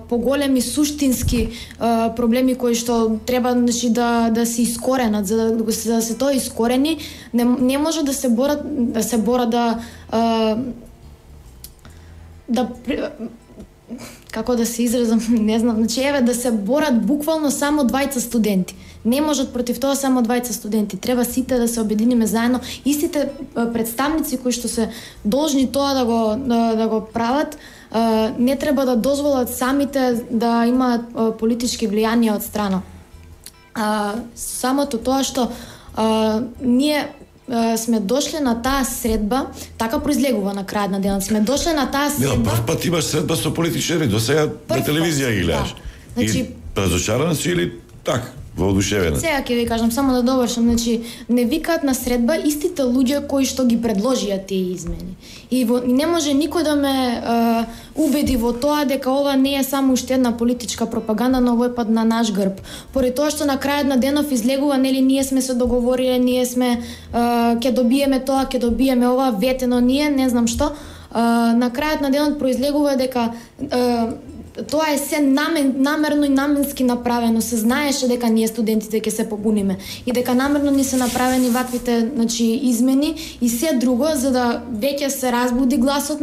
поголеми суштински проблеми кои што треба, значи, да се искоренат. За да се тоа искорени, не може да се борат како да се изразам, не знам, значи, да се борат буквално само двајца студенти. Не можат против тоа само двајца студенти. Треба сите да се обединиме заедно. Истите представници кои што се должни тоа да го прават, не треба да дозволат самите да имаат политички влијанија од страна. Самото тоа што ние сме дошли на таа средба, така произлегува на крајот на денот. Сме дошли на таа средба. Прв пат имаш средба со политичари, до сега на телевизија ги гледаш. Значи, и разочарана си или така? Воодушевена. Сега ќе ви кажам, само да довршам, значи не викаат на средба истите луѓе кои што ги предложија тие измени. И не може никој да ме убеди во тоа дека ова не е само уште една политичка пропаганда, но овој пат на наш грб. Поради тоа што на крајот на денов излегува, нели, ние сме се договориле, ние сме ќе добиеме тоа, ќе добиеме ова, ветено ние, не знам што. На крајот на денот произлегува дека тоа е се намерно и наменски направено. Се знаеше дека ние студентите ќе се побуниме и дека намерно ни се направени ваквите, значи, измени и се друго за да веќе се разбуди гласот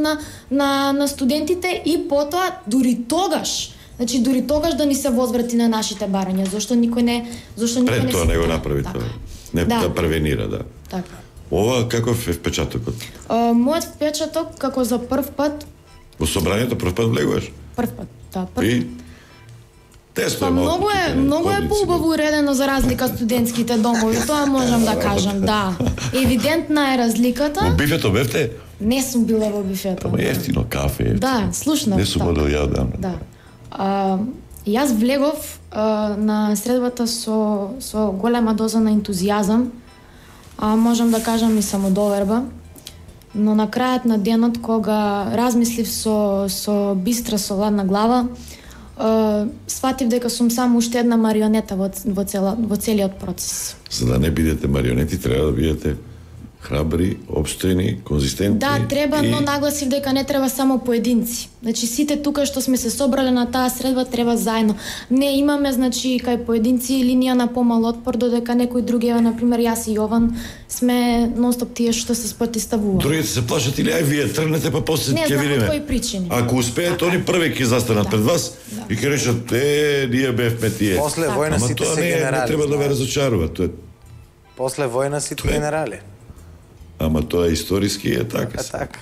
на студентите и потоа дури тогаш да ни се возврати на нашите барања. Зошто никој не пред тоа не го направи така. тоа. Не да превенира, да. Така. Ова каков е впечатокот? Мојот впечаток како за прв пат во собранието прв пат влегуваш? Прв пат, да, прв пат. Тесно многу е поубаво уредено за разлика од студентските домови, тоа можам да кажам, да. Евидентна е разликата. Во бифето бевте? Не сум била во бифето. Ама ефтино кафе. Да, слушнав. Не сум одел ја одам. Да. Јас влегов на средбата со голема доза на ентузијазам, можам да кажам и самодоверба. Но на крајот на денот, кога размислив со бистра, со ладна глава, сватив дека сум само уште една марионета во целиот процес. За да не бидете марионети, треба да бидете храбри, обстојни, конзистентни. Да, треба, но нагласив дека не треба само поединци. Значи сите тука што сме се собрале на таа средба треба заедно. Не имаме, значи, кај поединци линија на помал отпор, додека некои други, на пример јас и Јован, сме нонстоп тие што се спротивставуваат. Другите се плашат или ај вие тргнете па после ќе видиме. Не знам кои причини. Ако успеат, они први ќе застанат пред вас и ќе речат ние бевме тие. После војна сите се генерали. Не треба да ве разочарува, тоа. После војна сите генерали. Ама тоа историски е така. Така.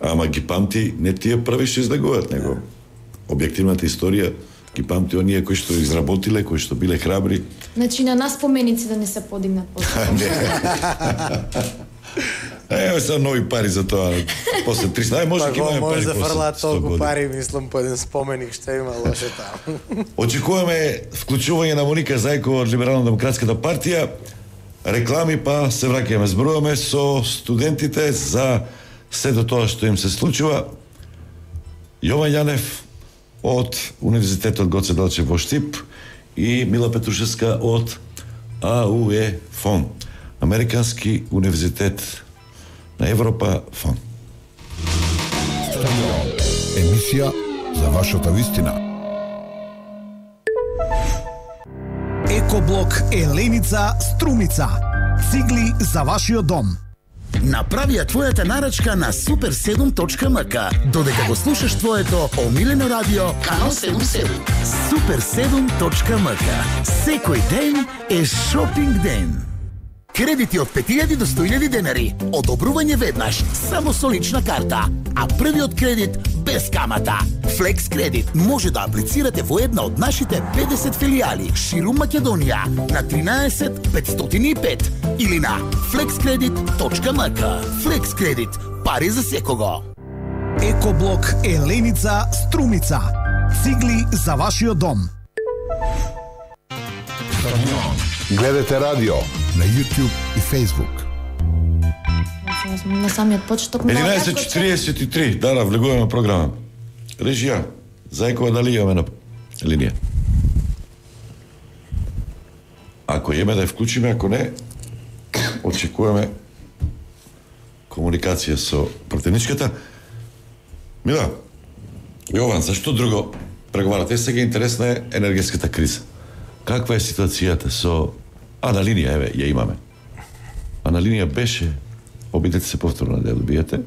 Ама ги памти не тие први што излегуваат, него објективната историја ги памти оние кои што изработиле, кои што биле храбри. Значи на нас поменици да не се подигнат после. Ево са нови пари за тоа. После 300, може ќе имаме пари. Може да фрлаат толку пари, мислам, по еден споменик што има лошо таму. Очекуваме вклучување на Моника Зајкова од Либерално-демократската партија. Реклами, па се враќаме, зборуваме со студентите за сето тоа што им се случува. Јован Јанев од Универзитетот Гоце Делчев во Штип и Мила Петрушевска од АУЕ ФОН, Американски универзитет на Европа ФОН. Емисија за вашата вистина. Екоблок Еленица Струмица. Цигли за вашиот дом. Направи ја твојата нарачка на super7.mk. Додека го слушаш твоето омилено радио, канал 77. super7.mk. Секој ден е шопинг ден. Кредити од 5000 до 100.000 денари. Одобрување веднаш, само со лична карта. А првиот кредит без камата. Флекс кредит може да аплицирате во една од нашите 50 филијали ширум Македонија на 13 505 или на flexcredit.mk. Флекс кредит, пари за секого. Екоблок Еленица Струмица. Цигли за вашиот дом. Гледате радио на YouTube и Facebook. На самиот почеток 11:43, да, влегуваме програма. Режија, Зајкова, дали имаме на линија? Ако имаме да ја вклучиме, ако не, очекуваме комуникација со противничката. Мила, Јован, зашто друго преговарате? Сега интересна е енергетската криза. Каква е ситуацијата со... на линија, еве, ја имаме. На линија беше, обидете се повторно да ја добиете,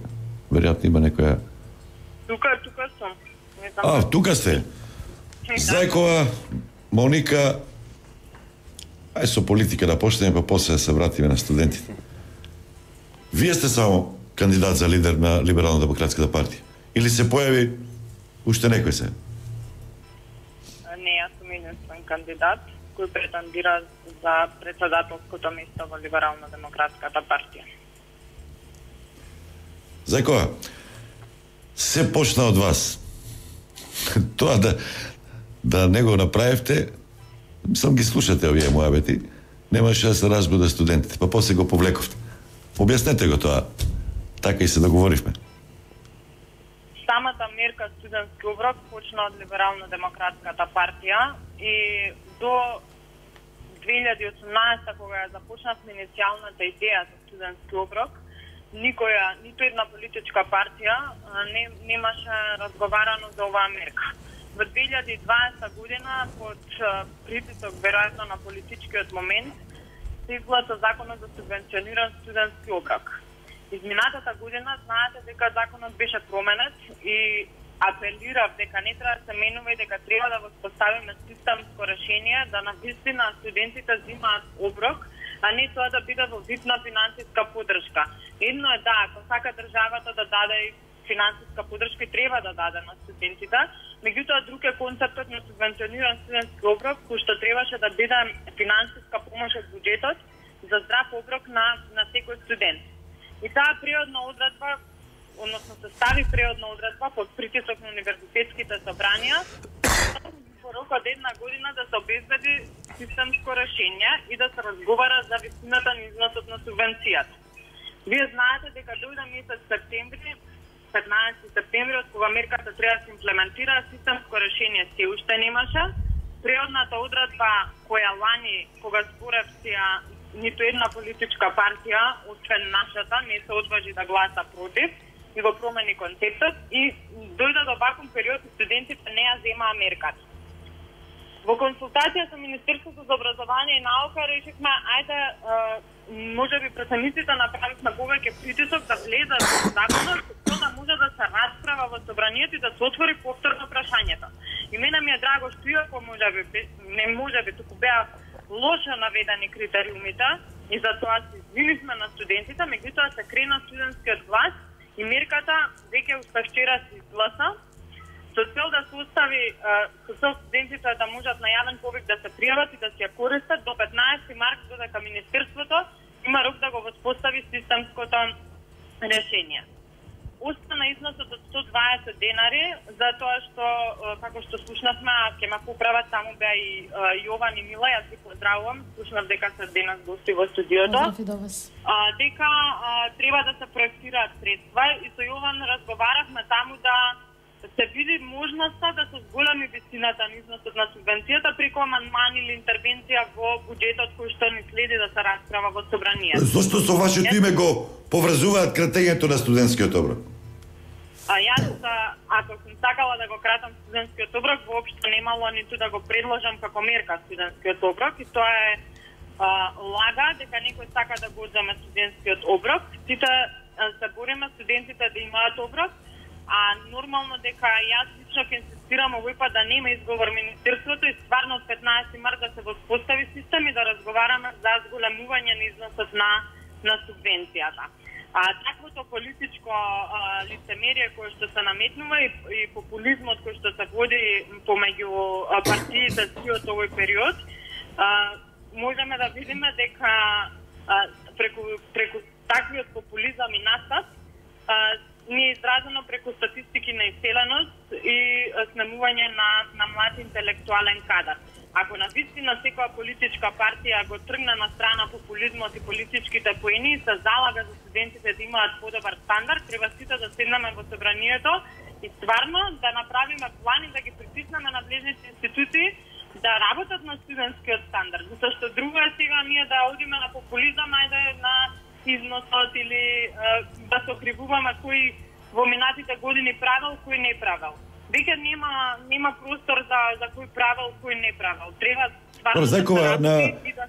веројатно има некоја... Тука сум. Тука сте. Зајкова, Моника, ај со политика да почнеме, па после да се вратиме на студентите. Вие сте само кандидат за лидер на Либерално-демократската партија? Или се појави уште некој се? Не, јас сум единствен кандидат кој претендира за председателското место во Либерално-демократската партија. Зајкова, се почна од вас. Тоа да не го направивте, сам ги слушате овие мојабети, немаше да се разбуда студентите, па после го повлековте. Објаснете го тоа, така и се договоривме. Самата мерка студентски оброк почна од Либерално-демократската партија и до 2018, кога ја започнавме иницијалната идеја за студентски оброк, нито една политичка партија немаше разговарано за оваа мерка. Во 2020 година, под притисок веројатно на политичкиот момент, се изгласа законот за субвенциониран студентски оброк. Изминатата година знаете дека законот беше променет и апелирав дека не треба да се менува и дека треба да воспоставиме системско решение да навистина студентите земаат оброк, а не тоа да биде во вид на финансиска поддршка. Едно е да, ако сака државата да даде финансиска поддршка, треба да даде на студентите, меѓутоа друг е концептот на субвенциониран студентски оброк, кој што требаше да биде финансиска помош од буџетот за здрав оброк на секој студент. И таа приодна одредба, односно се стави приодна одредба под притисок на универзитетските собранија, во рок од една година да се обезбеди системско решение и да се разговара за висината на износот на субвенцијата. Вие знаете дека дојде месец септември, 15 септември, од кога мерката треба да се имплементира, системско решение се уште немаше. Преодната одредба која лани, кога зборевте, ниту една политичка партија, освен нашата, не се одважи да гласа против и го промени концептот и дојде до ваков период и студентите не ја земаа мерката. Во консултација со Министерството за образование и наука решивме, ајде, можеби претениците направивме повеќе притисок да влезат во законот, за да може да се расправа во собранието и да се отвори повторно прашањето. И мене ми е драго што иако можеби, туку беа лошо наведени критериумите и затоа се извинивме на студентите, меѓутоа се крена студентскиот глас и мерката веќе уште вчера се изгласа со цел да се остави со цел студентите да можат на јавен повик да се пријават и да се ја користат до 15 март, додека Министерството има рок да го воспостави системското решение. Остана износот од 120 денари, затоа што, како што слушнавме, ќе ме поправат, таму беа и Јован и Мила, јас ги поздравувам, слушнав дека се денес гости во студиото. Поздрав и до вас. Дека треба да се проектираат средства и со Јован разговаравме таму да се види можноста да се зголеми висината на износот на субвенцијата преку амандман или интервенција во буџетот кој што ни следи да се расправа во собранието. Зошто со вашето име го поврзуваат кратењето на студентскиот оброк? Јас, ако сум сакала да го кратам студентскиот оброк, воопшто немало ниту да го предложам како мерка студентскиот оброк и тоа е лага дека некој сака да го одземе студентскиот оброк. Сите се бориме студентите да имаат оброк, а нормално дека јас лично ќе инсистирам овој пат да нема изговор Министерството и стварно од 15 март да се воспостави систем и да разговараме за зголемување на износот на субвенцијата. Таквото политичко лицемерие кое што се наметнува и популизмот кој што се води помеѓу партиите од овој период, можеме да видиме дека преку таквиот популизам и настап не е изразено преку статистики на иселеност и снемување на млад интелектуален кадар. Ако навистина секоја политичка партија го тргне на страна популизмот и политичките поени и се залага за студентите да имаат подобар стандард, треба сите да седнеме во собранието и стварно да направиме план и да ги притиснеме надлежните институции да работат на студентскиот стандард. Затоа што друго е сега ние да одиме на популизам, ајде на износот или да се окривуваме кој во минатите години правил, кој не правил. Веќе нема простор за кој правил, кој не правил. Треба стварно Закова,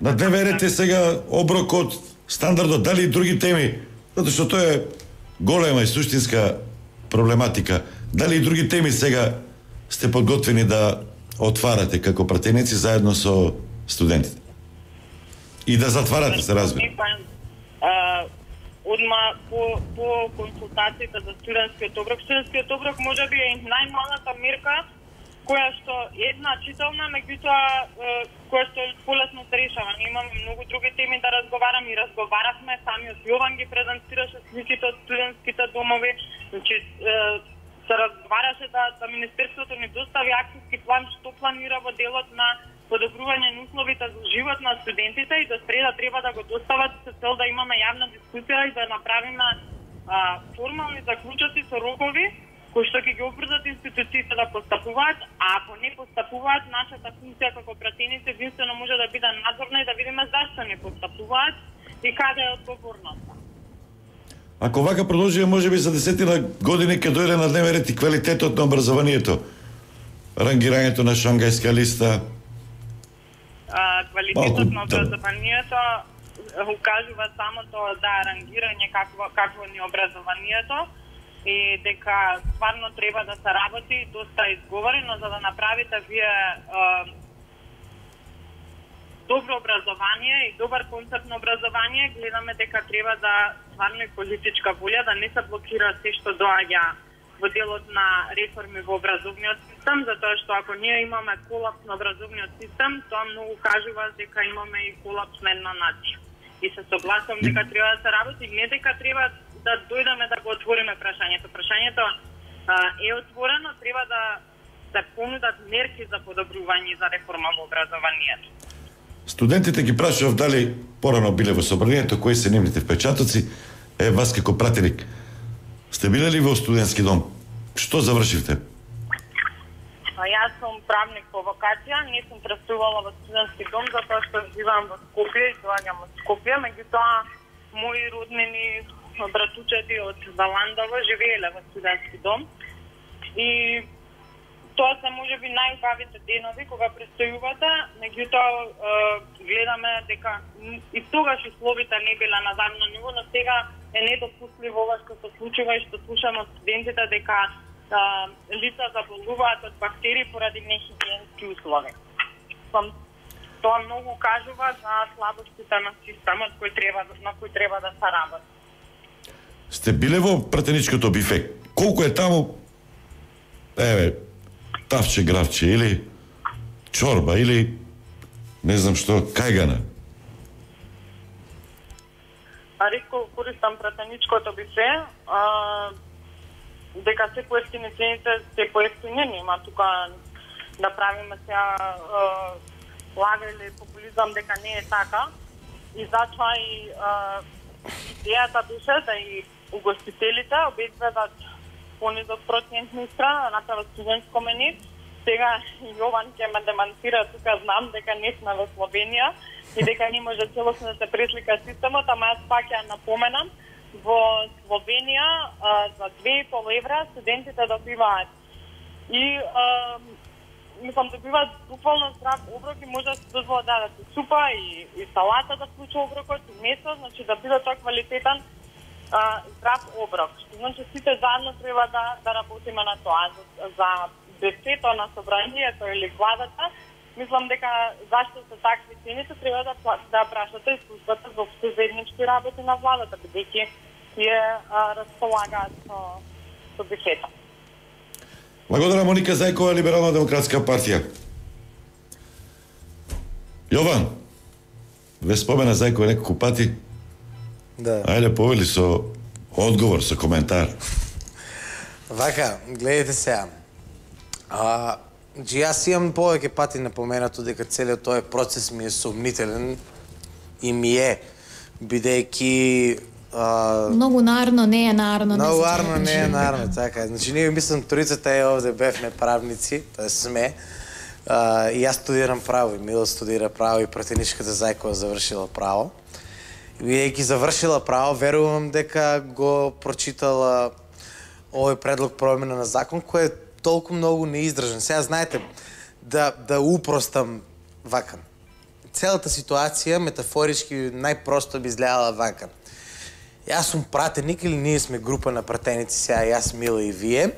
на дневен ред е сега оброкот, стандардот, дали и други теми, затоа што тоа е голема и суштинска проблематика. Дали и други теми сега сте подготвени да отварате како пратеници заедно со студентите? И да затварате, се разбира. Одма по консултациите за студентскиот оброк. Студентскиот оброк може би е најмалата мерка која што е значителна, меѓутоа која што полесно се решава. Ние имаме многу други теми да разговараме и разговаравме, самиот Јован ги презентираше сликите од студентските домови, значи се разговараше да Министерството ни достави акцијски план што планира во делот на подобрување на условите за живот на студентите и до среда треба да го достават со цел да имаме јавна дискусија и да направиме формални заклучоци со рокови кои што ќе ги обврзат институциите да постапуваат, а ако не постапуваат, нашата функција како пратеници единствено може да биде надзорна и да видиме зашто не постапуваат и каде е одговорноста. Ако вака продолжи, може би за 10 години ќе дојде на дневен ред и квалитетот на образованието, рангирањето на Шангајска листа. Квалитетот на образованието укажува самото рангирање какво ни образованието и дека стварно треба да се работи доста изговорено за да направите вие добро образование и добар концепт на образование. Гледаме дека треба да стварно и политичка волја да не се блокира се што доаѓа во делот на реформи во образовниот систем, затоа што ако ние имаме колапс на образовниот систем, тоа многу кажува дека имаме и колапс на една нација. И се согласувам дека треба да се работи, не дека треба да дојдеме да го отвориме прашањето. Прашањето е отворено, треба да се понудат мерки за подобрување за реформа во образованието. Студентите ги прашував дали порано биле во собранието, кои се нивните впечатоци. вас како пратеник, сте биле ли во студентски дом? Што завршивте? Јас сум правник по вокација, не сум престувала во студентски дом затоа што живеам во Скопје и доаѓам од Скопје, меѓутоа мои роднини, братучети од Валандово живееле во студентски дом и тоа се можеби најубавите денови кога престојувате, меѓутоа гледаме дека и тогаш условите не биле на завидно ниво, но сега е недопустливо ова што се случува и што слушаме од студентите дека лица заболуваат од бактерии поради нехигиенски услови. Тоа многу кажува за слабостите на системот на кој треба да се работи. Сте биле во пратеничкото бифе. Колку е таму? Тавче, гравче, или чорба, или не знам што, кајгана? Ретко користам пратеничкото бифе, дека се поевтини цените, се поевтини, нема тука да правиме сега лага или популизам дека не е така. И затоа и идејата беше да и угостителите обезбедат понизок процентни страна, да направат студентско меню. Сега Јован ќе ме демантира, тука знам дека не сме во Словенија и дека не може целосно да се преслика системот, ама јас пак ја напоменам, во Словенија за 2,5 евра студентите добиваат и добиваат буквално здрав оброк и може да се дозволат да дадат супа и салата да вклучи оброкот и месо, значи да биде тоа квалитетен здрав оброк. Значи сите заедно треба да работиме на тоа. За бюджетот на собранието или владата, мислам дека зашто се такви цените треба да прашате и службата за заеднички работи на владата, бидејќи ја располагаат со бюджета. Благодарам, Моника Зајкова, Либерално-демократска партија. Јован, ве спомена Зајкова неколку пати. Да. Ајде, повели со одговор, со коментар. Вака, гледайте сега. Јас имам повеќе пати напоменато дека целиот тој процес ми е сомнителен и ми е, бидејќи многу нарно не е нарно. Многу нарно не е нарно, така. Значи ние мислам трицата е овде бевме правници, тоа сме. И јас студирам право, и Мило студира право и пратеничката Зајкова завршила право. Бидејќи завршила право, верувам дека го прочитала овој предлог промена на закон кој е толку многу неиздржан. Сега знаете да упростам вака. Целата ситуација метафорички најпросто би изгледала вака. Јас сум пратеник или ние сме група на пратеници, сега јас, Мила и вие,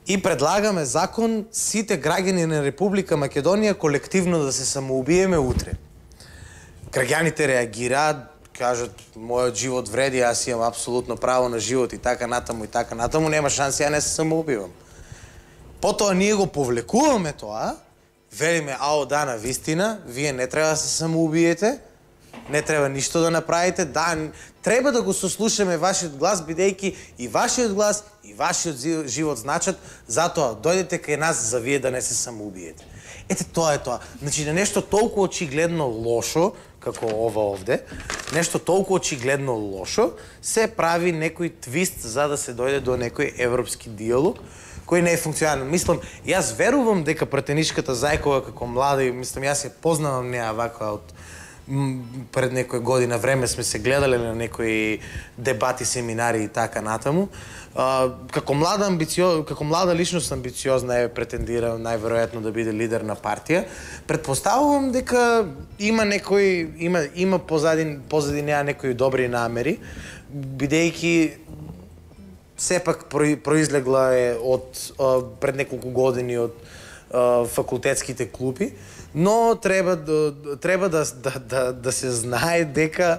и предлагаме закон сите граѓани на Република Македонија колективно да се самоубиеме утре. Граѓаните реагираат, кажат мојот живот вреди, јас имам апсолутно право на живот и така натаму, нема шанси ја не се самоубивам. Потоа ние го повлекуваме тоа, велиме ао да, на вистина, вие не треба да се самоубиете, не треба ништо да направите, да, треба да го сослушаме вашиот глас, бидејќи и вашиот глас и вашиот живот значат, затоа дојдете кај нас за вие да не се самоубиете. Ете, тоа е тоа. Значи, на нешто толку очигледно лошо, како ова овде, нешто толку очигледно лошо, се прави некој твист за да се дојде до некој европски диалог, кој не е функционален. Мислам, јас верувам дека пратеничката Зајкова како млада, и мислам, јас ја познавам неа вака од пред некој година време сме се гледале на некои дебати, семинари и така натаму. Како млада личност амбициозна е претендира најверојатно да биде лидер на партија. Претпоставувам дека има позади неа некои добри намери, бидејќи сепак произлегла е од пред неколку години од факултетските клупи, но треба да се знае дека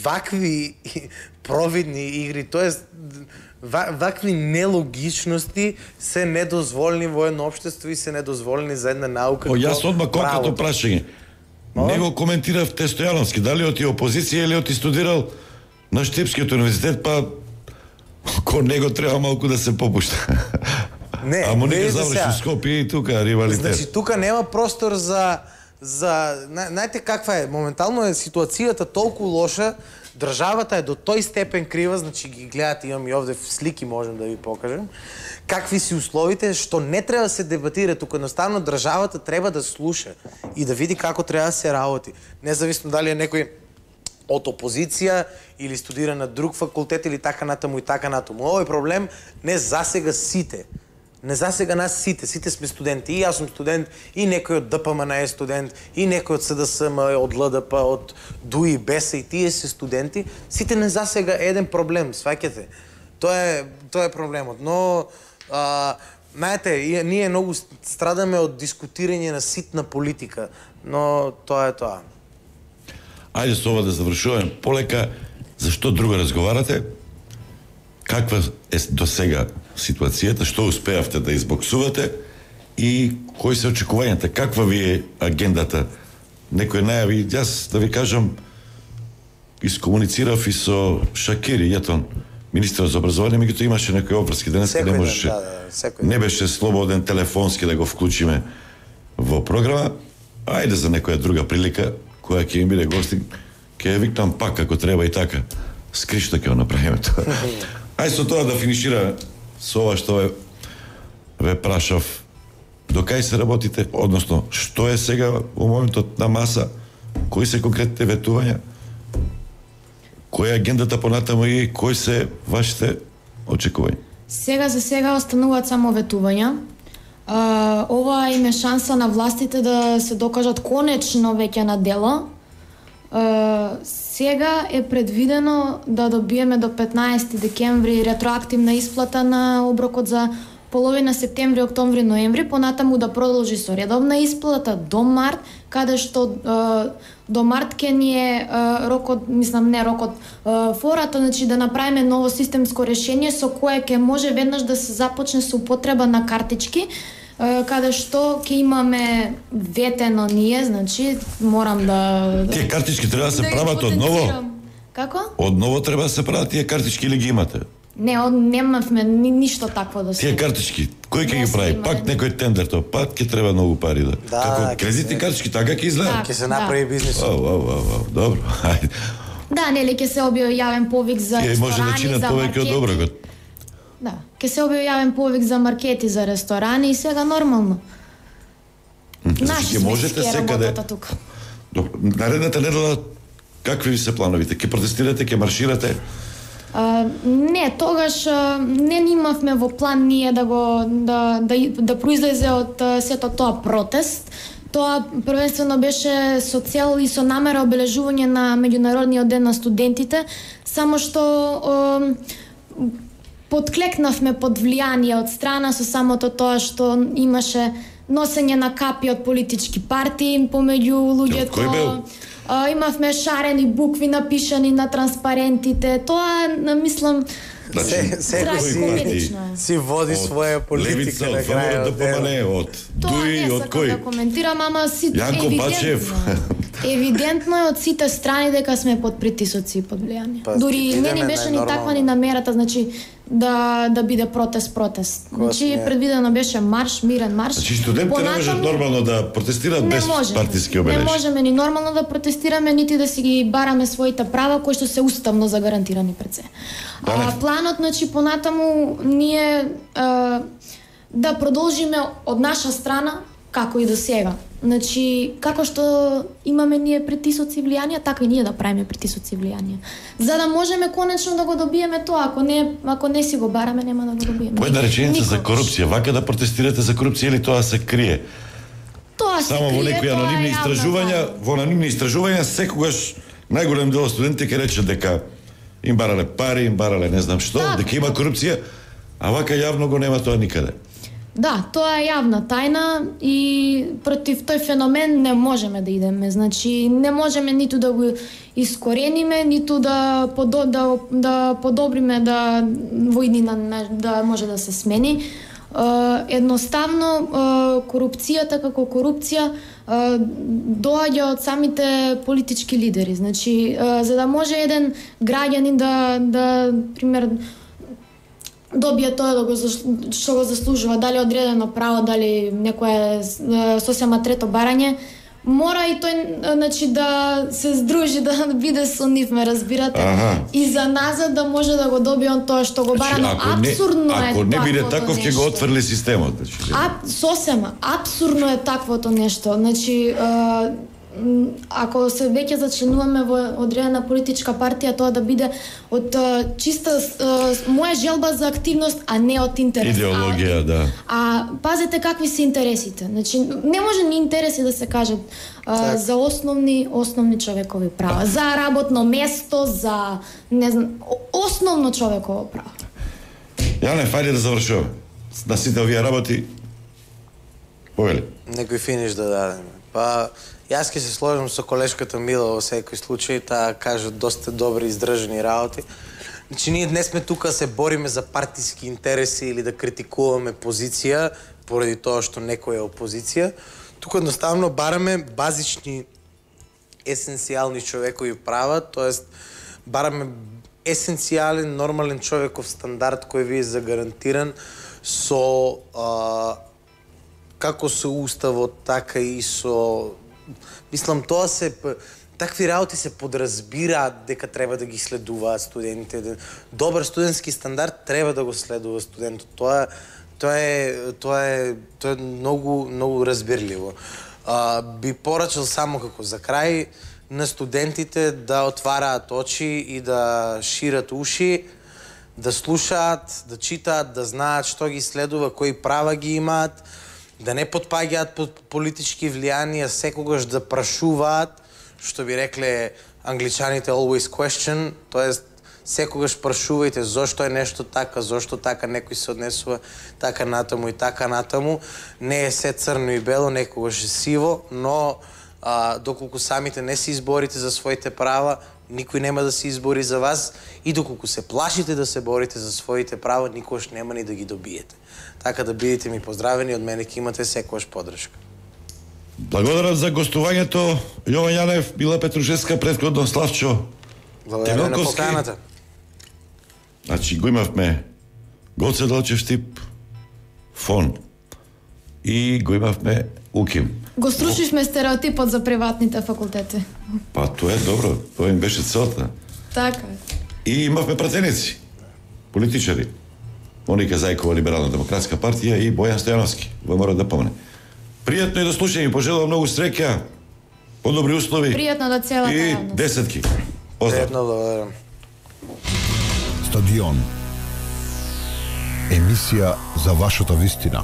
вакви провидни игри, тоест вакви нелогичности се недозволени во едно општество и се недозволени за една наука. Јас одма конкретно прашање. Не го коментиравте Стојановски, дали оти опозиција или оти студирал на Штипскиот универзитет, па кон него треба малку да се попушта. Не, Амо не заврши Скопје и тука ривалитет. Значи тука нема простор за знаете каква е, моментално е ситуацијата толку лоша, државата е до тој степен крива, значи ги гледате, имам и овде слики, можем да ви покажем, какви си условите, што не треба да се дебатира, туку едноставно државата треба да слуша и да види како треба да се работи. Независно дали е некој од опозиција или студира на друг факултет или така натаму и така натаму. Овој проблем не засега сите. Не засега нас сите. Сите сме студенти. И јас сум студент, и некој од ДПМН е студент, и некој од СДСМ, од ЛДП, од ДУИ, БЕСА, и тие се студенти. Сите не засега еден проблем, сваќате. Тоа е проблемот. Но, знаете, ние многу страдаме од дискутирање на ситна политика, но тоа е тоа. Ајде со ова да завршуваме полека. Зашто друго разговарате? Каква е до сега ситуацијата? Што успеавте да избоксувате? И кои се очекувањата? Каква ви е агендата? Некој најави, јас да ви кажам, искомуницирав и со Шакири, Јетон, министрот за образование, меѓутоа имаше некои обврски. Денеска не можеше, не беше слободен телефонски да го вклучиме во програма. Ајде за некоја друга прилика, која ќе им биде гостин, ќе ја викнам пак ако треба и така. Скришта ќе го направиме тоа. Ајде со тоа да финишира со ова што ве прашав. До кај се работите, односно што е сега во моментот на маса, кои се конкретните ветувања, која е агендата понатаму и кои се вашите очекувања? Сега за сега остануваат само ветувања. Ова им е шанса на властите да се докажат конечно веќе на дело. Сега е предвидено да добиеме до 15 декември ретроактивна исплата на оброкот за половина септември, октомври, ноември, понатаму да продолжи со редовна исплата до март, каде што до март ке ни е рокот, мислам не рокот, фората, значи да направиме ново системско решение со кое ќе може веднаш да се започне со употреба на картички, каде што ќе имаме ветено ние, значи морам да... Тие картички треба да се прават одново? Како? Одново треба да се прават тие картички или ги имате? Не, немавме ништо такво да се... Тие картички, кој ќе ги прави? Пак некој тендер тоа, пак ќе треба многу пари да... Како кредитни картички, така ќе изгледа? Ќе се направи бизнис. Добро, ајде. Да, нели ќе се објави јавен повик за ресторани, може да чинат повеќе од доброгот. Да, ќе се објави јавен повик за маркети, за ресторани и сега нормално. Значи ќе можете секаде... Наредната недела какви ви се плановите? Ќе протестирате, ќе марширате? Не, тогаш не имавме во план ние да произлезе од сето тоа протест. Тоа првенствено беше со цел и со намера обележување на меѓународниот ден на студентите, само што подклекнавме под влијание од страна со самото тоа што имаше носење на капи од политички партии помеѓу луѓето. Имавме шарени букви напишани на транспарентите. Тоа, мислам, си води своја политика на крајот. Да помане од Дуи, од кој? Да коментирам, ама Јанко Бачев. Евидентно е од сите страни дека сме под притисоци и под влијание. Дури не ни беше ни таква ни намерата, значи да биде протест. Значи предвидено беше марш, мирен марш. Значи студентите не можат нормално да протестираат без партиски обележки. Не можеме ни нормално да протестираме, нити да си ги бараме своите права кои што се уставно загарантирани пред се. Планот, значи понатаму ние да продолжиме од наша страна како и до сега. Значи, како што имаме ние притисоци и влијанија, така и ние да правиме притисоци и влијанија. За да можеме конечно да го добиеме тоа, ако не си го бараме, нема да го добиеме. Една реченица за корупција, вака да протестирате за корупција или тоа се крие? Тоа се крие, само во некои анонимни истражувања, во анонимни истражувања секогаш најголем дел од студентите ќе рече дека им барале пари, им барале не знам што, дека има корупција, а вака јавно го нема тоа никаде. Да, тоа е јавна тајна и против тој феномен не можеме да идеме. Значи, не можеме ниту да го искорениме, ниту да подобриме во иднина да може да се смени. Едноставно, корупцијата како корупција доаѓа од самите политички лидери. Значи, за да може еден граѓанин да пример, добие тоа што го заслужува, дали одредено право, дали некое сосема трето барање, мора и тој значи да се здружи, да биде со нив, ме разбирате? И за назад да може да го добие он тоа што го бара, но апсурдно е. Ако не биде таков, ќе го отфрли системот, значи. Сосема, апсурдно е таквото нешто. Значи, ако се веќе зачленуваме во одредена политичка партија, тоа да биде од чиста моја желба за активност, а не од интерес. Идеологија, да. А пазете какви се интересите. Значи, не може ни интереси да се кажат за основни човекови права, за работно место, за не знам, основно човеково право. Јане, фајде да завршуваме. На сите овие работи, повели. Некој финиш да дадеме. Па, јас ќе се сложам со колешката Мила во секој случај, таа кажа доста добри издржани работи. Значи, ние днес сме тука да се бориме за партиски интереси или да критикуваме позиција, поради тоа што некој е опозиција. Тука едноставно бараме базични, есенцијални човекови права, тоест бараме есенцијален, нормален човеков стандард кој ви е загарантиран со како со уставот, така и со... Мислам, тоа се... Такви работи се подразбираат дека треба да ги следуваат студентите. Добар студентски стандард треба да го следува студентот. Тоа е многу разбирливо. Би порачал само како за крај на студентите да отвараат очи и да шират уши, да слушаат, да читаат, да знаат што ги следува, кои права ги имаат, да не потпаѓаат под политички влијанија, секогаш да прашуваат, што би рекле англичаните always question, тоест секогаш прашувајте зошто е нешто така, зошто така некој се однесува така натаму и така натаму. Не е се црно и бело, некогаш е сиво, но доколку самите не се изборите за своите права, никој нема да се избори за вас, и доколку се плашите да се борите за своите права, никогаш нема ни да ги добиете. Така да бидете ми поздравени, од мене ќе имате секогаш поддршка. Благодарам за гостувањето, Јован Јанев, Мила Петрушевска, претходно Славчо Благодарам на поканата. Значи, го имавме Гоце Делчев тип, Фон, и го имавме Уким. Го струшивме стереотипот за приватните факултети. Па, тоа е добро, тоа им беше целта. Така. И имавме пратеници, политичари. Моника Зајкова, Либерално-демократска партија, и Бојан Стојановски, во мора да помне. Пријатно е да слушам и пожелувам многу среќа, подобри услови. Пријатно да целата и јавност. десетки. Поздрав. Пријатно, благодарам. Стадион. Емисија за вашата вистина.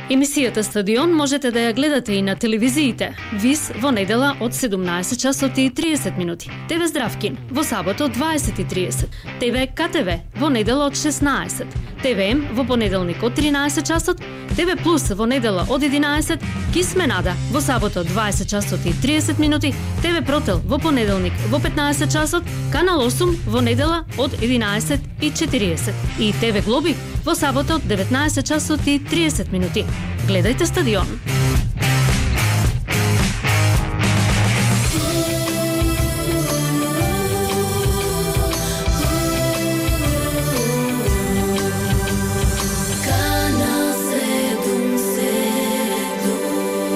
Емисијата Стадион можете да ја гледате и на телевизиите. ВИС во недела од 17 часот и 30 минути. ТВ Здравкин во сабота од 20:30. ТВ КТВ во недела од 16. ТВМ во понеделник од 13 часот. ТВ Плюс во недела од 11. Кисменада во сабота од 20 часот и 30 минути. ТВ Протел во понеделник во 15 часот. Канал 8 во недела од 11:40. И ТВ Глоби во сабота од 19 часот и 30 минути. Гледајте Стадион.